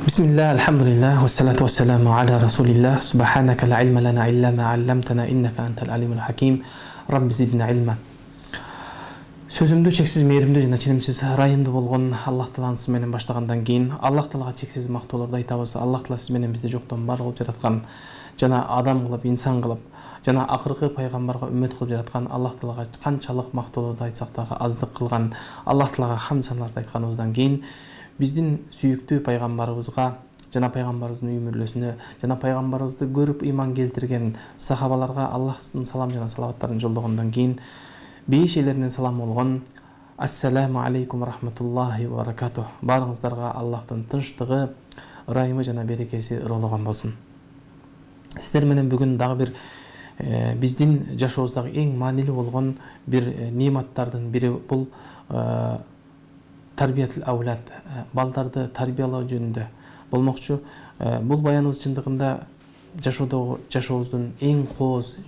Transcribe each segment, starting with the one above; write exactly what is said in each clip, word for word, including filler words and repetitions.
Bismillah, alhamdulillah, wassalatu wassalamu ala rasulillah, subhanaka la ilma lana illa ma allamtana innaka antal alimul hakim, rabbi zidna ilma. Сөзүмдү чексиз мээримдүү жана ченемсиз ырайымдуу болгон Аллах Тааланын аты менен баштагандан кийин Аллах Таалага чексиз мактоолорду айтабыз. Аллах Таала сиз менен бизди жоктон бар кылып жараткан, жана адам кылып, инсан кылып, жана акыркы пайгамбарга үммөт кылып жараткан Аллах Таалага канчалык мактоолорду айтсак дагы аздык кылган Аллах Таалага хамд саналарды айтканыбыздан кийин биздин сүйүктүү пайгамбарыбызга жана пайгамбарыбыздын үй мүрөлөсүнө жана пайгамбарыбызды көрүп ыйман келтирген сахабаларга Аллахтын салам жана салаваттарын жолдогондон кийин беш элеринен салам болгон ассаламу алейкум рахматуллахи ва баракатух. Баарыңыздарга Аллахтын тынчтыгы, ырайымы жана берекеси ырологон болсун. Сиздер менен бүгүн дагы бир э, биздин жашообуздагы эң маанилүү болгон бир э, нематтардын бири бул э, тарбиятыл аулад, балдарды тарбиялоо жөнүндө болмокчу. Э, бул баяныбыз чындыгында жашоодогу жашообуздун эң кооз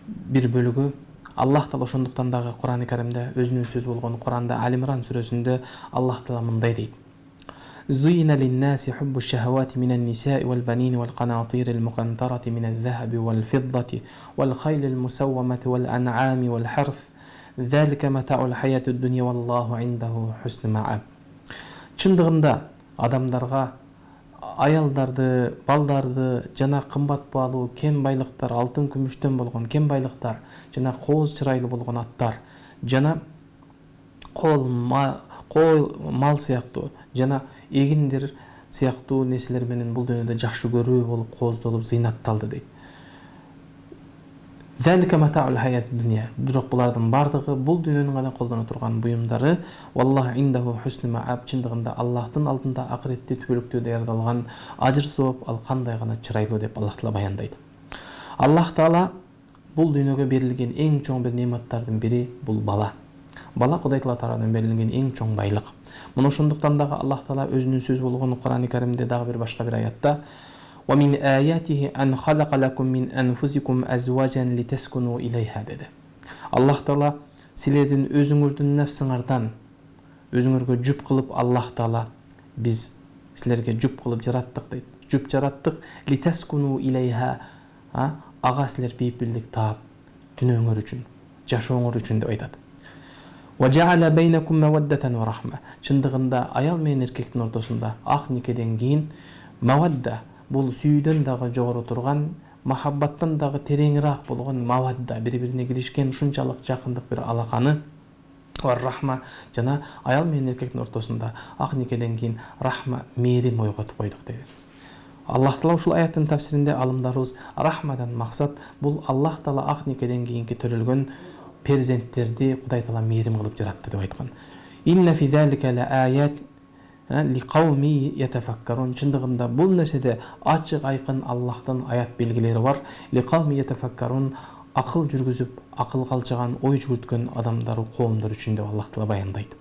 бир бөлүгү. Аллах Таала ошондуктан дагы Кур'ан-ы Каримде өзүнүн сөзү болгон Кур'анда Ал-Имран сүрөсүндө Аллах Таала мындай дейт: Зуйна лин-наси хуббу шахавати минан нисаи вал банини вал канатирил мукантарати миназ захаби вал фиддати вал хайлил мусаввамати вал ан'ами вал харф залика матаул хаятуд дунья валлаху индаху хуснул мааб. Чындыгында адамдарга аялдарды, балдарды жана кымбат баалуу кен байлыктар, алтын күмүштөн болгон кен байлыктар жана кооз чырайлуу болгон аттар жана кол кол мал сыяктуу жана эгиндер сыяктуу нерселер менен бул дүйнөдө жакшы көрүү болуп кооздолуп зыйнатталды дейт. Залика матаул хаятуд дунья. Бирок булардын бардыгы бул дүйнөнүн гана колдоно турган буюмдары. Валлаху индаху хуснул мааб. Чындыгында Аллахтын алдында акыретте түбөлүктүү даярдалган ажыр сооп ал кандай гана чырайлуу деп Аллах Таала баяндайт. Аллах Таала бул дүйнөгө берилген эң чоң бир нематтардын бири бул бала. Бала Кудай Таала тарабынан берилген эң чоң байлык. Мына ошондуктан дагы Аллах Таала өзүнүн сөзү болгон Кур'ан-ы Каримде дагы бир башка бир аятта وَمِنْ آيَاتِهِ أَنْ خَلَقَ لَكُمْ مِنْ أَنْفُسِكُمْ أَزْوَاجًا لِتَسْكُنُوا إِلَيْهَا dedi. Аллах Таала силердин өзүңөрдүн нефсиңардан өзүңөргө жуп кылып Аллах Таала биз силерге жуп кылып жараттык дейт. Жуп жараттык литаскуну илейха, ага силер бейпилдик таап түнөөңөр үчүн, жашооңор үчүн деп айтат. وَجَعَلَ بَيْنَكُمْ مَوَدَّةً وَرَحْمَةً. Чындыгында аял менен эркектин ортосунда ак никеден кийин мавадда бул сүйүүдөн дагы жогору турган, махаббаттан дагы тереңирээк болгон мавадда, бири-бирине киришкен ушунчалык жакындык бир алаканы ва рахма жана аял менен эркектин ортосунда ак никеден кийин рахма, мээрим ойготуп койдук деди. Аллах Таала ушул аяттын тафсиринде алымдарыбыз рахмадан максат бул Аллах Таала ак никеден кийинки төрөлгөн перзенттерди Кудай Таала мээрим кылып жаратты деп айткан. Инна фи залика ла аят лиқауми ятафаккарун. Чындыгында бул нерседе ачык айкын Аллахтын аят белгилери бар. Лиқауми ятафаккарун, акыл жүргүзүп, акыл калчыган, ой жүгүрткөн адамдар, коомдор үчүн деп Аллах Таала баяндайт.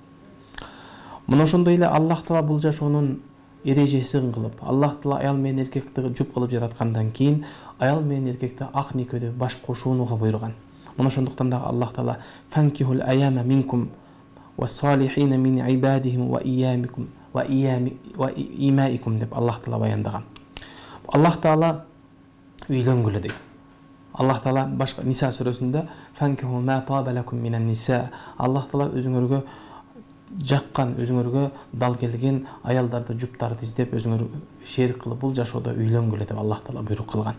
Мына ошондой эле Аллах Таала бул жашоонун эрежесин кылып, Аллах Таала аял менен эркекти жуп кылып жараткандан кийин аял менен эркекти ак никеде баш кошууга буйруган. Мына ошондуктан да Аллах Таала фанкихул аяма минкум ва салихина мин ибадихим ва иямикум ва имаикум деп Аллах Таала баяндаган. Аллах Таала үйлөнгүлө дейт. Аллах Таала башка Ниса сүрөсүндө фанкиху ма табалакум минан ниса. Аллах Таала өзүңөргө жаккан, өзүңөргө дал келген аялдарды, жуптарды издеп өзүңөр шерик кылып бул жашоодо үйлөнгүлө деп Аллах Таала буйрук кылган.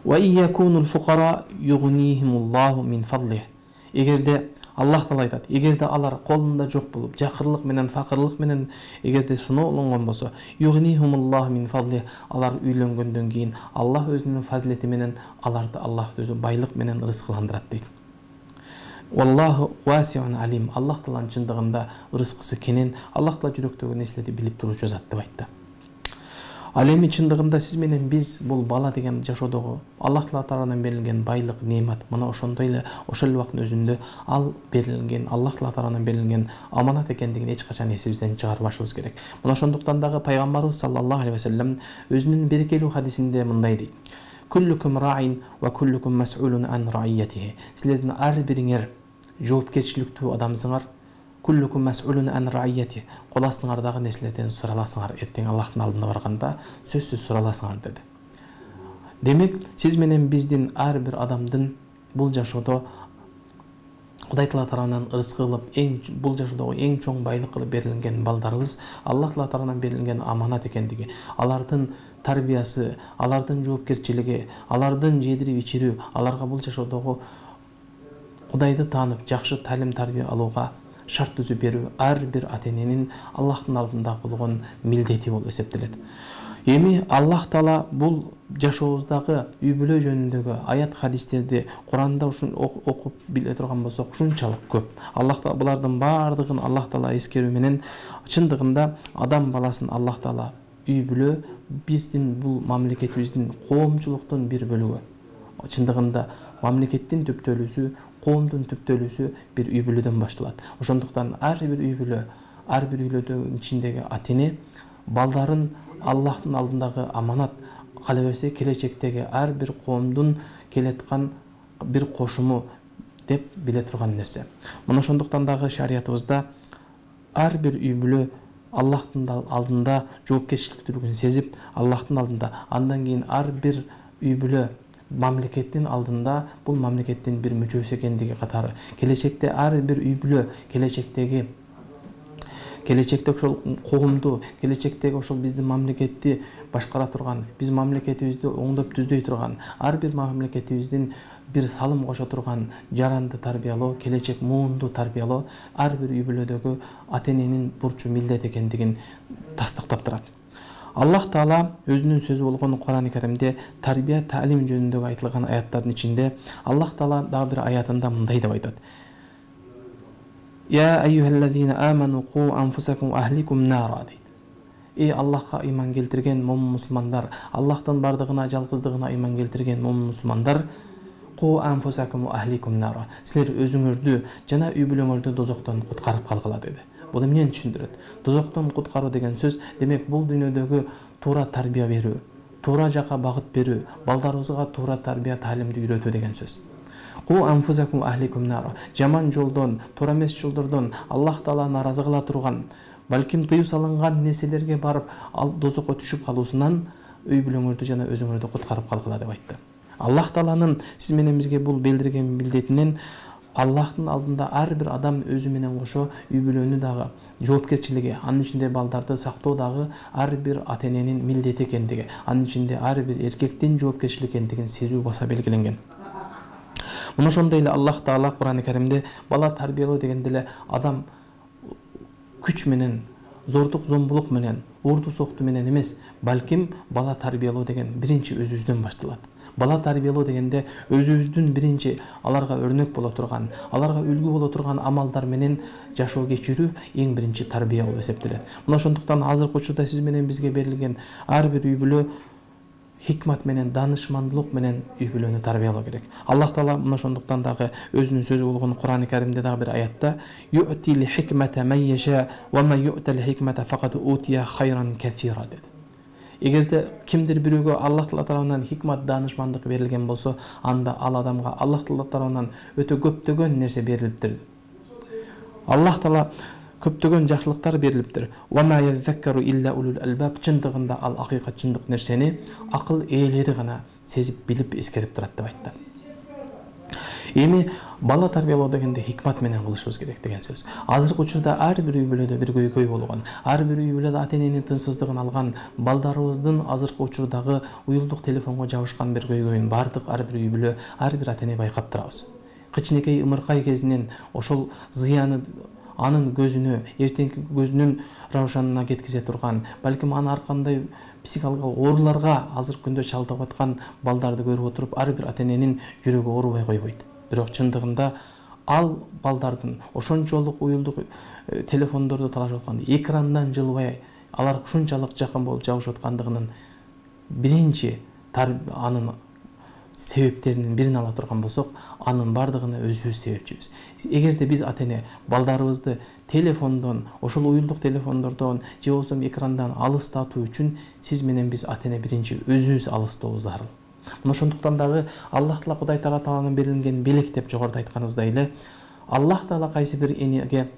Ва иякунул фуқара югнихимуллаху мин фадлих. Эгерде Аллах Таала айтат, эгерде алар колунда жок болуп, жакырлык менен, факырлык менен эгерде сыноолонгон болсо, югнихумуллаху мин фадлих, алар үйлөнгөндөн кийин Аллах өзүнүн фазилети менен аларды Аллах өзү байлык менен рызкыландырат дейт. Wallahu wasi'un alim. Аллах Тааланын чындыгында рызкысы кенен, Аллах Таала жүрөктөгү нерселерди билип туруучу зат деп айтты. Ал эми чындыгында сиз менен биз бул бала деген жашоодогу Аллах Таала тарабынан берилген байлык, немат, мына ошондой эле ошол убакыттын өзүндө ал берилген, Аллах Таала тарабынан берилген аманат экендигин эч качан эсибизден чыгарбашыбыз керек. Мына ошондуктан дагы пайгамбарыбыз саллаллаху алейхи ва саллям өзүнүн берекелүү хадисинде мындай дейт: "Куллукум раин ва куллукум мас'улун ан раиятихи." Силердин ар бириңер жоопкерчиликтүү адамсыңар, куллукум мас'улун ан раiyati. Кол астыңардагы нерселерден сураласыңар, эртең Аллахтын алдына барганда сөзсүз сураласыңар деди. Демек, сиз менен биздин ар бир адамдын бул жашоодо Кудай Таала тарабынан ырзык кылып, эң бул жашоодогу эң чоң байлык кылып берилген балдарыбыз Аллах Таала тарабынан берилген аманат экендиги, алардын тарбиясы, алардын жоопкерчилиги, алардын жедирип ичирүү, аларга бул жашоодогу Кудайды таанып, жакшы талим тарбия алууга шарт түзүп берүү ар бир ата-эненин Аллахтын алдында болгон милдети болуп эсептелет. Эми Аллах Таала бул жашообуздагы үй бүлө жөнүндөгү аят хадистерди Куранда ушун окуп биле турган болсок ушунчалык көп. Аллах Таала булардын баардыгын Аллах Таала эскерүү менен чындыгында адам баласын Аллах Таала үй бүлө биздин бул мамлекетибиздин коомчулуктун бир бөлүгү. Чындыгында мамлекеттин түптөлүүсү, коомдун түптөлүүсү бир үй бүлөдөн башталат. Ошондуктан ар бир үй бүлө, ар бир үйлөрдүн ичиндеги ата-эне балдарын Аллахтын алдындагы аманат, кала берсе келечектеги ар бир коомдун келаткан бир кошуму деп биле турган нерсе. Мына ошондуктан дагы шариятыбызда ар бир үй бүлө Аллахтын алдында жоопкерчиликтүүлүгүн сезип, Аллахтын алдында, андан кийин ар бир үй бүлө мамлекеттин алдында бул мамлекеттин бир мүчөсү экендиги катары, келечекте ар бир үй бүлө келечектеги келечекте ошол коомду, келечектеги ошол биздин мамлекетти башкара турган, биз мамлекетибизди оңдоп түздөй турган, ар бир мамлекетибиздин бир салым кошо турган жаранды тарбиялоо, келечек муунду тарбиялоо ар бир үй бүлөдөгү ата-эненин бурчу, милдет экендигин тастыктап турат. Аллах Таала өзүнүн сөзү болгон Кур'ан-ы Каримде тарбия, таалим жөнүндөгү айтылган аяттардын ичинде Аллах Таала дагы бир аятында мындай деп айтат. Я айюхаллазина аману қу анфусакум ахликум нара дейт. Эй Аллахка иман келтирген момун мусулмандар, Аллахтын бардыгына, жалгыздыгына иман келтирген момун мусулмандар, қу анфусакум ахликум нара. Силер өзүңөрдү жана үй бүлөңөрдү дозоктон куткарып калгыла деди. Бул эмнени түшүндүрөт? Дозоктон куткаруу деген сөз, демек бул дүйнөдөгү туура тарбия берүү, туура жака багыт берүү, балдарыбызга туура тарбия, таалимди үйрөтүү деген сөз. Ку анфусакум ахликум нара. Жаман жолдон, туура эмес жолдордон Аллах Таала наразы кыла турган, балким тыюу салынган нерселерге барып, ал дозокко түшүп калуусунан үй бүлөңөрдү жана өзүңөрдү куткарып калгыла деп айтты. Аллах Тааланын сиз менен бизге бул билдирген милдетинен Аллахтын алдында ар бир адам өзү менен кошо үй бүлөнү дагы жоопкерчилиги, анын ичинде балдарды сактоо дагы ар бир ата-эненин милдети экендиги, анын ичинде ар бир эркектин жоопкерчилиги экендигин сезүү баса белгиленген. Мына ошондой эле Аллах Таала Кур'ан-ы Каримде бала тарбиялоо дегенде эле адам күч менен, зордук зомбулук менен, урду сокту менен эмес, балким бала тарбиялоо деген биринчи өзүбүздөн башталат. Бала тарбиялоо дегенде өзүбүздүн биринчи аларга өрнөк боло турган, аларга үлгү боло турган амалдар менен жашоо кечирүү эң биринчи тарбия болуп эсептелет. Мына ошондуктан азыркы учурда сиз менен бизге берилген ар бир үй бүлө хикмат менен, данышмандылык менен үй бүлөнү тарбиялоо керек. Аллах Таала мына ошондуктан дагы өзүнүн сөзү болгон Кур'ан-ы Каримде дагы бир аятта ю'тил хикмата ман яша ва ма ю'тал хикмата факат утия хайран катира dedi. Эгерде кимдир бирөөгө Аллах Таала тарабынан хикмат, данышмандык берилген болсо, анда ал адамга Аллах Таала тарабынан өтө көптөгөн нерсе берилиптир. Аллах Таала көптөгөн жакшылыктар берилиптир. Ва ма язаккару илля улул албаб. Чындыгында ал акыйкат, чындык нерсени акыл ээлери гана сезип, билип, эскерип турат деп айтты. Эми бала тарбиялоо дегенде хикмат менен кылышыбыз керек деген сөз. Азыркы учурда ар бир үй бүлөдө бир көйгөй болгон, ар бир үй бүлөдө ата-эненин тынчсыздыгын алган, балдарыбыздын азыркы учурдагы уюлдук телефонго жабышкан бир көйгөйүн бардык ар бир үй бүлө, ар бир ата-эне байкап турабыз. Кичинекей ымыркай кезинен ошол зыяны анын көзүнө, эртеңки көзүнүн раушанына кеткизе турган, балким аны ар кандай психикалык ооруларга азыркы күндө чалдыгып аткан балдарды көрүп отуруп, ар бир ата-эненин жүрөгү оорубай койбойт. Бирок чындыгында ал балдардын ошончолук уюлдук телефондорду талашып аткан, экрандан жылбай, алар ушунчалык жакын болуп жабышып аткандыгынын биринчи анын себептеринин бирин ала турган болсок, анын бардыгына өзүбүз себепчибиз. Эгерде биз ата-эне балдарыбызды телефондон, ошол уюлдук телефондордон же болбосо экрандан алыстатуу үчүн сиз менен биз ата-эне биринчи өзүбүз алыстообуз зарыл. Мына ошондуктан дагы Аллах Таала Кудай тарабынан берилген белек деп жогоруда айтканыбыздай эле, Аллах Таала кайсы бир энеге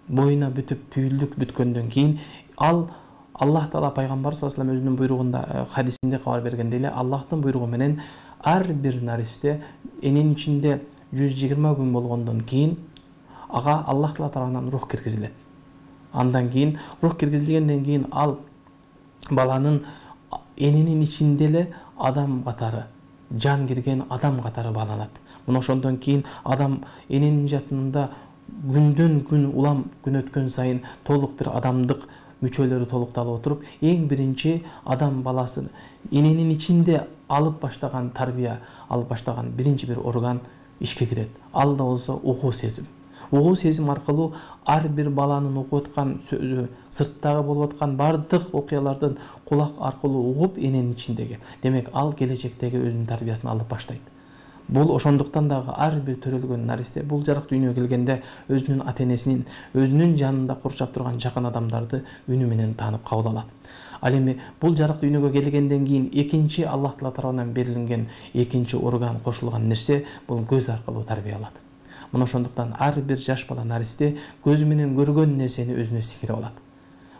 боюна бүтүп түйүлдүк бүткөндөн кийин ал Аллах Таала пайгамбар саллаллаху алейхи вассалам өзүнүн буйругунда хадисинде кабар бергендей эле Аллахтын буйругу менен ар бир наристе эненин ичинде жүз жыйырма күн болгондон кийин ага Аллах Таала тарабынан рух киргизилет. Андан кийин рух киргизилгенден кийин ал баланын эненин ичинде эле адам катары, жан кирген адам катары бааланат. Мына ошондон кийин адам эненин жатынында күндөн күн улам күн өткөн сайын толук бир адамдык мүчөлөрү толукталып отуруп, эң биринчи адам баласы эненин ичинде алып баштаган тарбия, алып баштаган биринчи бир орган ишке кирет. Ал да болсо угуу сезим. Угуу сезим аркылуу ар бир баланын окуп аткан сөзү, сырттагы болуп аткан бардык окуялардын кулак аркылуу угуп эненин ичиндеги. Демек, ал келечектеги өзүнүн тарбиясын алып баштайт. Бул ошондуктан дагы ар бир төрөлгөн наристе бул жарык дүйнөгө келгенде өзүнүн ата-энесинин, өзүнүн жанында курчап турган жакын адамдарды үнү менен таанып кабыл алат. Ал эми бул жарык дүйнөгө келгенден кийин экинчи Аллах Таала тарабынан берилген экинчи орган кошулган нерсе бул көз аркылуу тарбиялат. Мына ошондуктан ар бир жаш бала наристе көзү менен көргөн нерсени өзүнө сиңирип алат.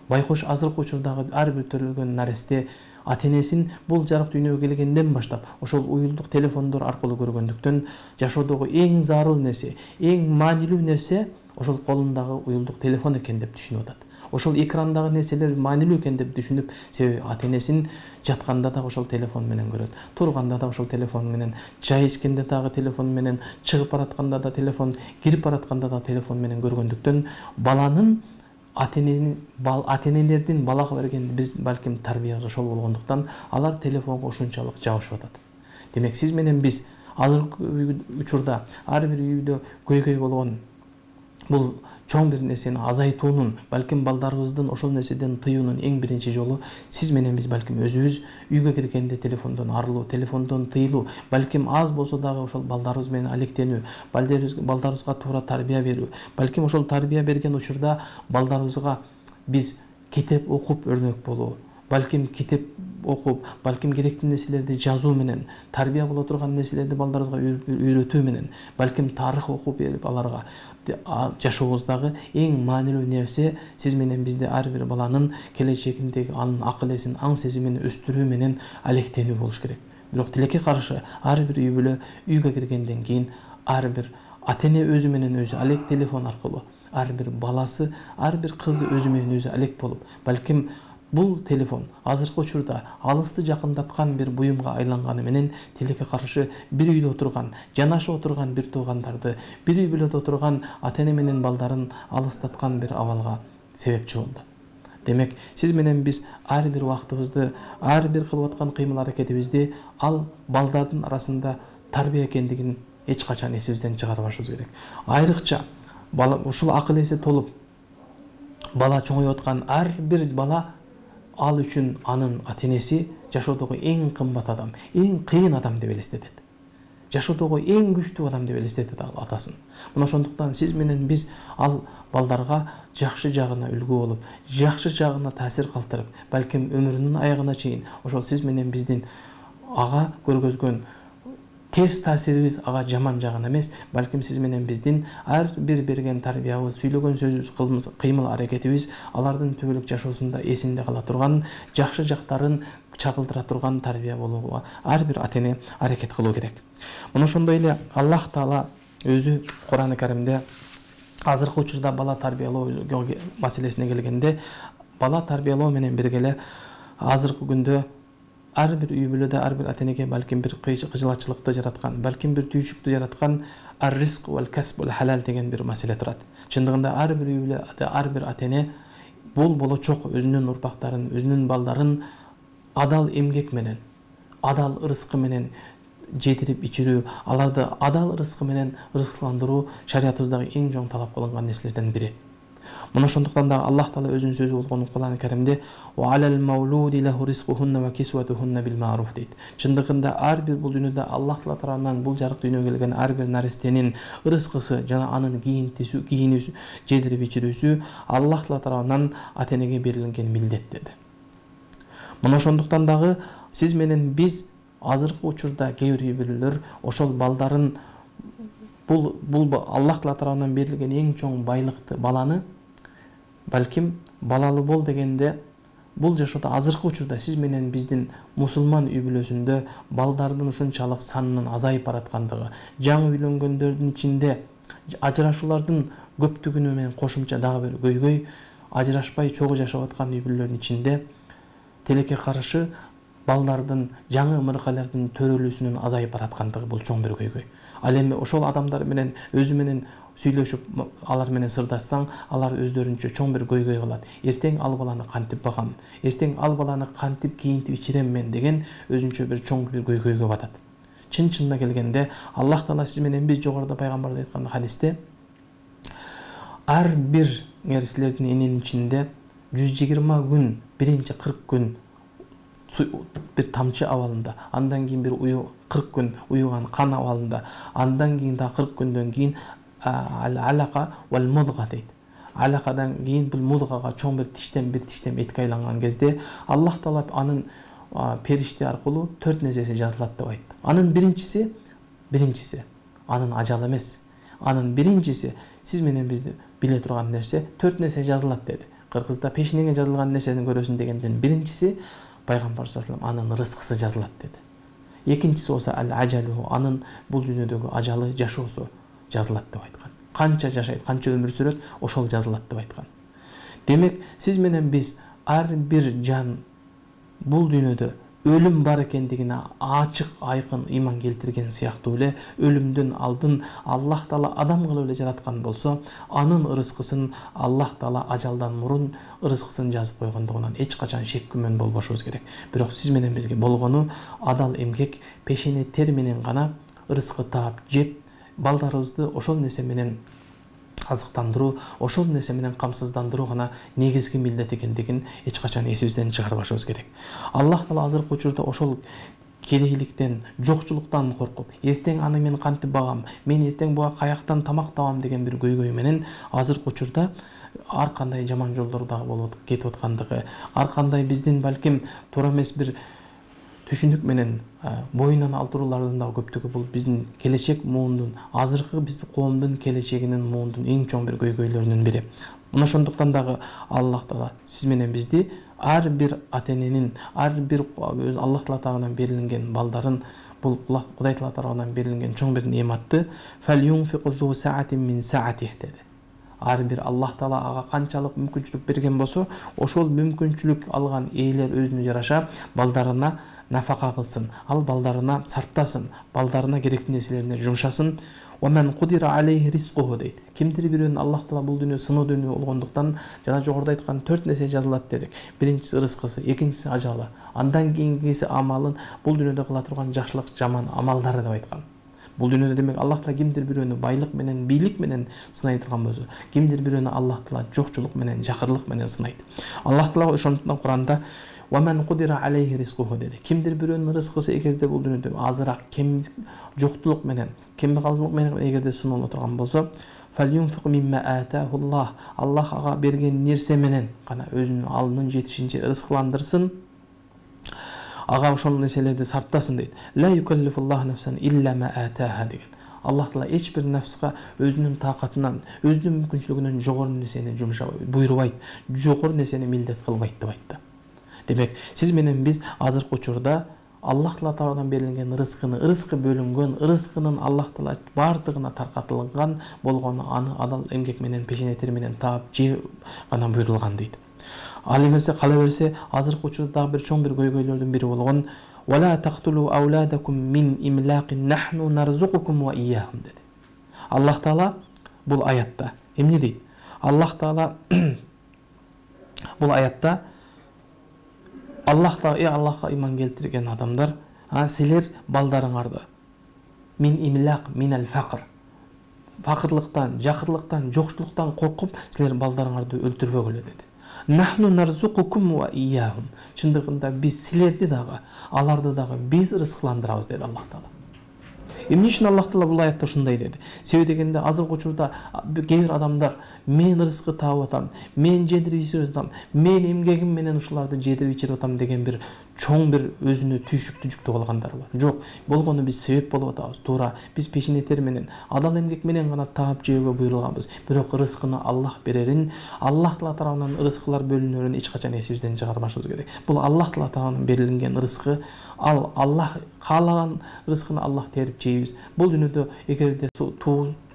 Байкуш азыркы учурдагы ар бир төрөлгөн наристе ата-энесин бул жарык дүйнөгө келгенден баштап ошол уюлдук телефондор аркылуу көргөндүктөн жашоодогу эң зарыл нерсе, эң маанилүү нерсе ошол колундагы уюлдук телефон экен деп түшүнүп атат. Ошол экрандагы нерселер маанилүү экен деп түшүнүп, себеби ата-энесин жатканда да ошол телефон менен көрөт, турганда да ошол телефон менен, чай ичкенде дагы телефон менен, чыгып баратканда да телефон, кирип баратканда да телефон менен көргөндүктөн баланын ата-эненин ата-энелердин балага берген биз балким тарбиясы ошол болгондуктан алар телефонго ушунчалык жабышып атат. Демек, сиз менен биз азыркы учурда ар бир үйдө көйгөй болгон бул чоң бир нерсени азайтуунун, балким балдарыбыздын ошол нерседен тыюунун эң биринчи жолу сиз менен биз балким өзүбүз үйгө киргенде телефондон арылуу, телефондон тыйылуу, балким аз болсо дагы ошол балдарыбыз менен алектенүү, балдарыбызга туура тарбия берүү, балким ошол тарбия берген учурда балдарыбызга биз китеп окуп өрнөк болуу, балким китеп окуп, балким керектүү нерселерди жазуу менен, тарбия боло турган нерселерди балдарыбызга үйрөтүү менен, балким тарых окуп берип аларга жашообуздагы эң маанилүү нерсе сиз менен бизде ар бир баланын келечегиндеги анын акыл эсин, аң сезимин өстүрүү менен алектенүү болуш керек. Бирок тилекке каршы ар бир үй бүлө үйгө киргенден кийин ар бир ата-эне өзү менен өзү алек телефон аркылуу, ар бир баласы, ар бир кызы өзү менен өзү алек болуп, балким бул телефон азыркы учурда алысты жакындаткан бир буюмга айланганы менен тилекке каршы бир үйдө отурган, жанашып отурган бир туугандарды, бир үй бүлөдө отурган ата-эне менен балдарын алыстаткан бир абалга себепчи болду. Демек, сиз менен биз ар бир убактыбызды, ар бир кылып аткан кыймыл-аракетибизди ал балдардын арасында тарбия экендигин эч качан эсибизден чыгарбашыбыз керек. Айрыкча бала ушул акыл эси толуп бала чоңоюп аткан ар бир бала ал үчүн анын ата-энеси жашоодогу эң кымбат адам, эң кыйын адам деп элестетет. Жашоодогу эң күчтүү адам деп элестетет ал атасын. Мына ошондуктан сиз менен биз ал балдарга жакшы жагына үлгү болуп, жакшы жагына таасир калтырып, балким өмүрүнүн аягына чейин ошол сиз менен биздин ага көргөзгөн терс таасирибиз ага жаман жагына эмес, балким сиз менен биздин ар бир берген тарбиябыз, сүйлөгөн сөзүбүз, кыймыл-аракетибиз алардын түбөлүк жашоосунда эсинде кала турган, жакшы жактарын чагылдыра турган тарбия болууга ар бир ата-эне аракет кылуу керек. Мына ошондой эле Аллах Таала өзү Кур'ан-ы Каримде азыркы учурда бала тарбиялоо маселесине келгенде, бала тарбиялоо менен бирге эле азыркы күндө ар бир үй бүлөдө ар бир ата-энеге балким бир кыжылачылыкты жараткан, балким бир түйшүктү жараткан ар-ризк вал касб вал халал деген бир маселе турат. Чындыгында ар бир үй бүлөдө ар бир ата-эне бул болочок өзүнүн урпактарын, өзүнүн балдарын адал эмгек менен, адал ырыскы менен жетирип ичирүү, аларды адал ырыскы менен ырыскыландыруу шариятыбыздагы эң чоң талап кылынган нерселерден бири. Мына ошондуктан да Аллах Таала өзүнүн сөзү болгон Кур'ан-ы Каримде "Ва алал маулуди лаху ризкухунна ва кисватухунна бил ма'руф" дейт. Чындыгында ар бир бул дүйнөдө Аллах Таала тарабынан бул жарык дүйнөгө келген ар бир наристенин ырыскысы жана анын кийинтисү, кийинүүсү, жедирип ичирүүсү Аллах Таала тарабынан ата-энеге берилген милдет деди. Мына ошондуктан дагы сиз менен биз азыркы учурда кээ бир үй бүлөлөр ошол балдарын бул бул Аллах Таала тарабынан берилген эң чоң байлыкты, баланы балким балалы бол дегенде бул жашоодо азыркы учурда сиз менен биздин мусулман үй бүлөсүндө балдардын ушунчалык санынын азайып бараткандыгы, жаңы үйлөнгөндөрдүн ичинде ажырашуулардын көптүгүнө менен кошумча дагы бир көйгөй, ажырашпай чогуу жашап аткан үй бүлөлөрдүн ичинде тилекке каршы балдардын жаңы ымыркайлардын төрөлүүсүнүн азайып бараткандыгы бул чоң бир көйгөй. Ал эми ошол адамдар менен өзү менен сүйлөшүп, алар менен сырдашсаң, алар өздөрүнчө чоң бир көйгөй кылат. Эртең ал баланы кантип багам, эртең ал баланы кантип кийинтип ичирем мен деген өзүнчө бир чоң бир көйгөйгө батат. Чын чынына келгенде Аллах Таала сиз менен биз жогоруда пайгамбарда айткан хадисте ар бир силердин эненин ичинде жүз жыйырма күн, биринчи кырк күн бир тамчы абалында, андан кийин бир уyu кырк күн уюган кан абалында, андан кийин да кырк күндөн кийин алака вал мудга дейт. Алакадан кийин бул мудгага чоң бир тиштен бир тиштен этке айланган кезде Аллах Таала анын периште аркылуу төрт нерсеси жазылат деп айтты. Анын биринчиси, биринчиси анын ажалы эмес. Анын биринчиси сиз менен бизди биле турган нерсе төрт нерсе жазылат деди. Кыргызда пешинеңе жазылган нерсени көрөсүң дегенден биринчиси пайгамбар саллаллаху алейхи ва саллям анын рызкысы жазылат деди. Экинчиси болсо ал ажалу, анын бул дүйнөдөгү ажалы, жашоосу жазылат деп айткан. Канча жашайт, канча өмүр сүрөт, ошол жазылат деп айткан. Демек, сиз менен биз ар бир жан бул дүйнөдө өлүм бар экендигине ачык айкын ыйман келтирген сыяктуу эле өлүмдөн алдын Аллах Таала адам кылып эле жараткан болсо, анын рызкысын Аллах Таала ажалдан мурун рызкысын жазып койгондугунан эч качан шек күмөн болбошубуз керек. Бирок сиз менен бирге болгону адал эмгек, пешене тер менен гана рызкы таап жеп, балдарыбызды ошол нерсе менен азыктандыруу, ошол нерсе менен камсыздандыруу гана негизги милдет экендигин эч качан эсибизден чыгарбашыбыз керек. Аллах Таала азыркы учурда ошол кедейликтен, жокчулуктан коркуп, эртең аны мен кантип багам, мен эртең буга каяктан тамак табам деген бир көйгөй менен азыркы учурда ар кандай жаман жолдордо болуп кетип аткандыгы, ар кандай биздин балким туура эмес бир түшүнүк менен боюнан алдыруулардын да көптүгү бул биздин келечек муундун, азыркы биздин коомдун келечегинин муундун эң чоң бир көйгөйлөрүнүн бири. Мына ошондуктан дагы Аллах Таала сиз менен бизди ар бир ата-эненин, ар бир Аллах Таала тарабынан берилген балдарын, бул Кудай Таала тарабынан берилген чоң бир неаматты фалюнфиқу зу саатин мин саатих деди. Ар бир Аллах Таала ага канчалык мүмкүнчүлүк берген болсо, ошол мүмкүнчүлүк алган ээлер өзүнө жараша балдарына нафака кылсын, ал балдарына сарптасын, балдарына керектүү нерселерине жумшасын. Вамен кудира алейхи ризкуху дейт. Кимдир бирөөнүн Аллах Таала бул дүйнө сыноо дүйнө болгондуктан жана жогоруда айткан төрт нерсе жазылат дедик. Биринчиси рызкысы, экинчиси ажалы, андан кийинкиси амалын, бул дүйнөдө кыла турган жакшылык, жаман амалдары деп айткан. Бул дүйнөдө демек Аллах Таала кимдир бирөөнү байлык менен, бийлик менен сынай турган болсо, кимдир бирөөнү Аллах Таала жокчулук менен, жакырлык менен сынайт. Аллах Таала ошондуктан Куранда وَمَنْ قُدِرَ عَلَيْهِ رِزْقُهُ dedi. Kimdir biröөнүн рызкысы эгерде бул дүйнөдө азыраак кем жоктулук менен, кембагалдык менен эгерде сыналып турган болсо, فَلْيُنْفِقْ مِمَّا آتَاهُ اللَّهُ. Аллах ага берген нерсе менен гана өзүнүн алынын жетишинче рызкыландырсын. Ага ошол нерселерди сарптасын дейт. لا يكلف الله نفسا إلا ما آتاها деген. Аллах Таала эч бир нафска өзүнүн таакатынан, өзүнүн мүмкүнчүлүгүнөн жогору нерсени жумшабайт, буйрубайт, жогору нерсени милдет кылбайт деп айтты. Демек, сиз менен биз азыркы учурда Аллах Таала тарабынан берилген рызкыны, рызкы бөлүнгөн, рызкынын Аллах Таала бардыгына таркатылган болгону аны адал эмгек менен, пешене тер менен таап же гана буйрулган дейт. Ал эмесе кала берсе, азыркы учурда дагы бир чоң бир көйгөйлөрдүн бири болгон وَلَا تَقْتُلُوا أَوْلَادَكُمْ مِنْ إِمْلَاقٍ نَحْنُ نَرْزُقُكُمْ وَإِيَّاهُمْ dedi. Аллах Таала бул аятта эмне дейт? Аллах Таала бул аятта Аллах Таала, э Аллахка иман келтирген адамдар, а силер балдарыңарды мин имлак минал факр, факырлыктан, жакырлыктан, жокчулуктан коркуп, силер балдарыңарды өлтүрбөгүлө деди. Нахну нарзукукум ва ияхум. Чындыгында биз силерди дагы, аларды дагы биз рызкыландырабыз деди Аллах Таала. Эмне үчүн Аллах Таала бул аятта ушундай деди? Себеби дегенде азыркы учурда кээ бир адамдар мен рызкы таап атам, мен жедирип ичирип атам, мен эмгегим менен ушуларды жедирип ичирип атам деген бир чоң бир өзүнө түйшүктүү жүктөп алгандар бар. Жок, болгону биз себеп болуп атабыз. Туура, биз пешене тер менен, адал эмгек менен гана таап жөөгө буйрулганбыз. Бирок рызкыны Аллах берерин, Аллах Таала тарабынан рызкылар бөлүнөрүн эч качан эсибизден чыгарбашыбыз керек. Бул Аллах Таала тарабынан берилген рызкы, ал Аллах каалаган рызкыны Аллах терип жейбиз. Бул дүйнөдө эгерде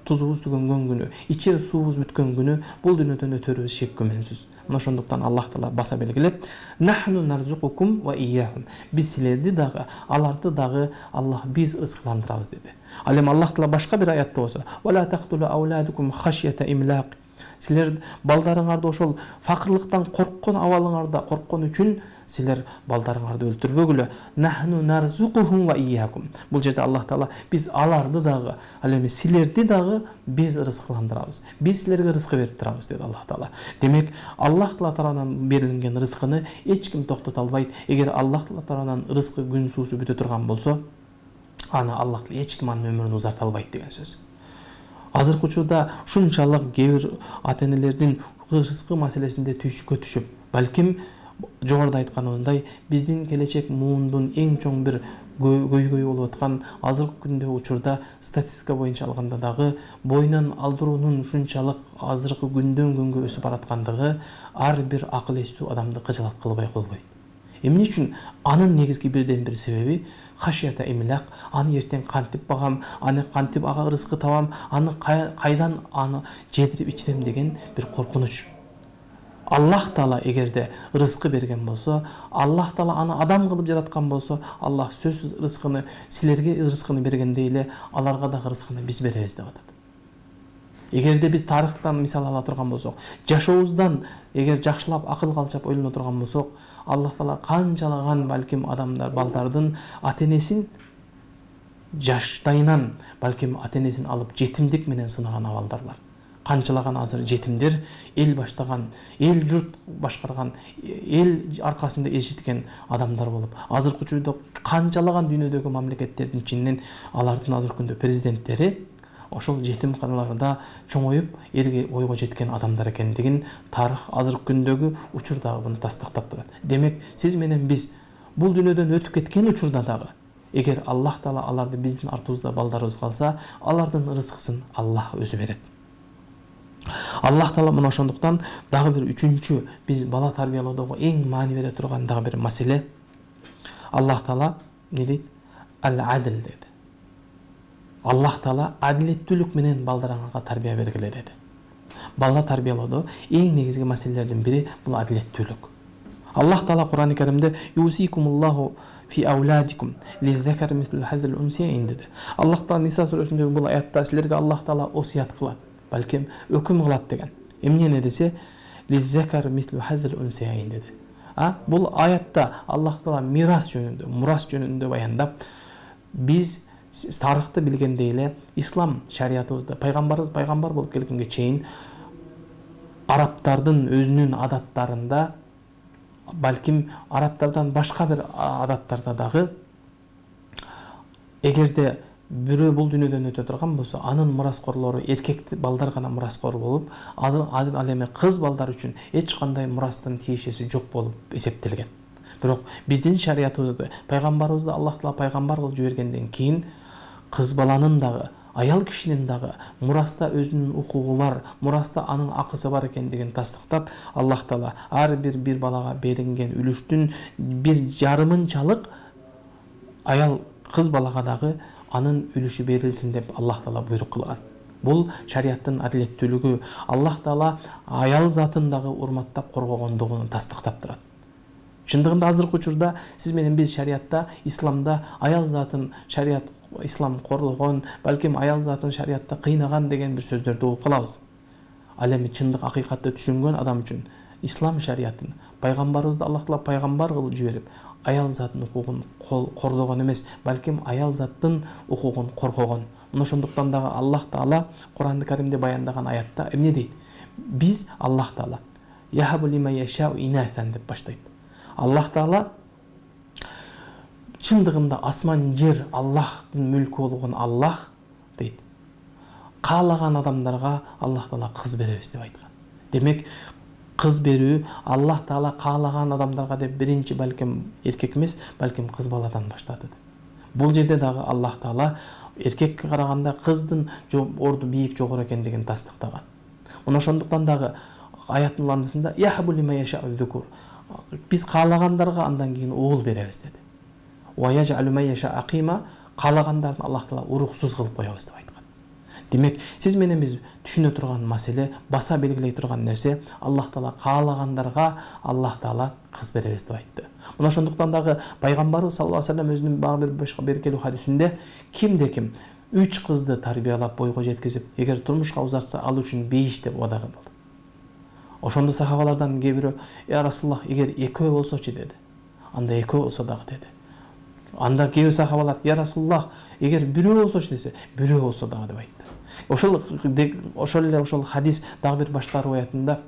тузубуз түгөнгөн күнү, ичер суубуз бүткөн күнү бул дүйнөдөн өтөрүбүз шек күмөнсүз. Мына ошондуктан Аллах Таала баса белгилеп, нахну нарзукукум ва ияхум. Биз силерди дагы, аларды дагы Аллах биз рызкыландырабыз деди. Ал эми Аллах Таала башка бир аятта болсо, вала тактулу ауладукум хашията имлак. Силер балдарыңарды ошол факырлыктан корккон абалыңарда корккон үчүн силер балдарыңарды өлтүрбөгүлө. Нахну нарзукухум ва ияхум. Бул жерде Аллах Таала биз аларды дагы, ал эми силерди дагы биз рызкыландырабыз. Биз силерге рызкы берип турабыз деди Аллах Таала. Демек, Аллах Таала тарабынан берилген рызкыны эч ким токтото албайт. Эгер Аллах Таала тарабынан рызкы күн суусу бүтө турган болсо, аны Аллах Таала эч ким анын өмүрүн узарта албайт деген сөз. Азыркы учурда ушунчалык кээ бир ата-энелердин рызкы маселесинде түйшүккө түшүп, балким жогоруда айтканымдай, биздин келечек муундун эң чоң бир көйгөйү болуп аткан азыркы күндө учурда статистика боюнча алганда дагы боюнан алдыруунун ушунчалык азыркы күндөн күнгө өсүп бараткандыгы ар бир акыл эстүү адамды кыжалат кылбай койбойт. Эмне үчүн? Анын негизги бирден бир себеби хашията имлак. Аны эртең кантип багам, аны кантип ага рызкы табам, аны кайдан аны жедирип ичирем деген бир коркунуч. Аллах Таала эгерде рызкы берген болсо, Аллах Таала аны адам кылып жараткан болсо, Аллах сөзсүз рызкыны силерге рызкыны бергендей эле аларга дагы рызкыны биз беребиз деп атат. Эгерде биз тарыхтан мисал ала турган болсок, жашообуздан эгер жакшылап акыл калчап ойлоно турган болсок, Аллах Таала канчалаган балким адамдар, балдардын ата-энесин жаштайынан балким ата-энесин алып жетимдик менен сынаган абалдар бар. Канчалаган азыр жетимдер эл баштаган, эл журт башкарган, эл аркасында эжиткен адамдар болуп, азыркы учурда канчалаган дүйнөдөгү мамлекеттердин ичинен алардын азыркы күндө президенттери ошол жетимканаларда чоңоюп элге ойго жеткен адамдар экендигин тарых азыркы күндөгү учур дагы буну тастыктап турат. Демек, сиз менен биз бул дүйнөдөн өтүп кеткен учурда дагы эгер Аллах Таала аларды биздин артыбызда балдарыбыз калса, алардын рызкысын Аллах өзү берет. Аллах Таала мына ошондуктан дагы бир үчүнчү биз бала тарбиялоодогу эң маани бере турган дагы бир маселе, Аллах Таала не дейт? Ал-адл деди. Аллах Таала адилеттүүлүк менен балдарыңарга тарбия бергиле деди. Бала тарбиялоодо эң негизги маселелердин бири бул адилеттүүлүк. Аллах Таала Кур'ан-ы Каримде юсикумуллаху фи ауладикум лиззакар мислу хазил унсияин деди. Аллах Таала Ниса сүрөсүндөгү бул аятта силерге Аллах Таала осуят кылат, балким өкүм кылат деген. Эмне десе, лиззакар мислу хазил унсияин деди. А бул аятта Аллах Таала мирас жөнүндө, мурас жөнүндө баяндап, биз тарыхты билгендей эле ислам шариятыбызда пайгамбарыбыз пайгамбар болуп келгенге чейин арабтардын өзүнүн адаттарында, балким арабтардан башка бир адаттарда дагы эгерде бирөө бул дүйнөдөн өтө турган болсо, анын мураскорлору эркек балдар гана мураскор болуп, азыр ал эми кыз балдар үчүн эч кандай мурастын тиешеси жок болуп эсептелген. Бирок биздин шариятыбызда пайгамбарыбызды Аллах Таала пайгамбар кылып жибергенден кийин кыз баланын дагы, аял кишинин дагы мураста өзүнүн укугу бар, мураста анын акысы бар экендигин тастыктап, Аллах Таала ар бир бир балага берилген үлүштүн бир жарымынчалык аял кыз балага дагы анын үлүшү берилсин деп Аллах Таала буйрук кылган. Бул шариаттын адилеттүүлүгү, Аллах Таала аял затын дагы урматтап коргогондугун тастыктап турат. Чындыгында азыркы учурда сиз менен биз шариатта, исламда аял затын шариат ислам коргогон, балким аял затын шариатта кыйнаган деген бир сөздөрдү угуп калабыз. Ал эми чындык акыйкатты түшүнгөн адам үчүн ислам шариатын пайгамбарыбызды Аллах Таала пайгамбар кылып жиберип, аял затын укугун кордогон эмес, балким аял заттын укугун коргогон. Мына ошондуктан дагы Аллах Таала Кур'ан-ы Каримде баяндаган аятта эмне дейт? Биз Аллах Таала яхабу лима яшау инасан деп баштайт. Аллах Таала чындыгында асман жер Аллахтын мүлкү болгон Аллах дейт. Каалаган адамдарга Аллах Таала кыз беребиз деп айткан. Демек, кыз берүү Аллах Таала каалаган адамдарга деп биринчи балким эркек эмес, балким кыз баладан баштады. Бул жерде дагы Аллах Таала эркекке караганда кыздын орду бийик жогору экендигин тастыктаган. Мына ошондуктан дагы аяттын андысында яхбу лима яшау зукур. Биз каалагандарга андан кийин оол беребиз деди. Ва яжалу ма яша акима, каалагандарын Аллах Таала уруксуз кылып коебуз деп айткан. Демек, сиз менен биз түшүнө турган маселе, баса белгилей турган нерсе, Аллах Таала каалагандарга Аллах Таала кыз беребиз деп айтты. Мына ошондуктан дагы пайгамбарыбыз саллаллаху алейхи ва саллям өзүнүн багы бир башка беркелүү хадисинде кимде ким үч кызды тарбиялап бойго жеткизип, эгер турмушка узатса ал үчүн беш деп убада кылды. Ошондо сахабалардан кээ бирөө, "Я Расулуллах, эгер экөө болсочу" деди. Анда экөө болсо дагы деди. Анда кээ бир сахабалар, "Я Расулуллах, эгер бирөө болсочу" десе, "Бирөө болсо дагы" деп айтты. Ошол ошол эле ошол хадис дагы бир башка риwayatында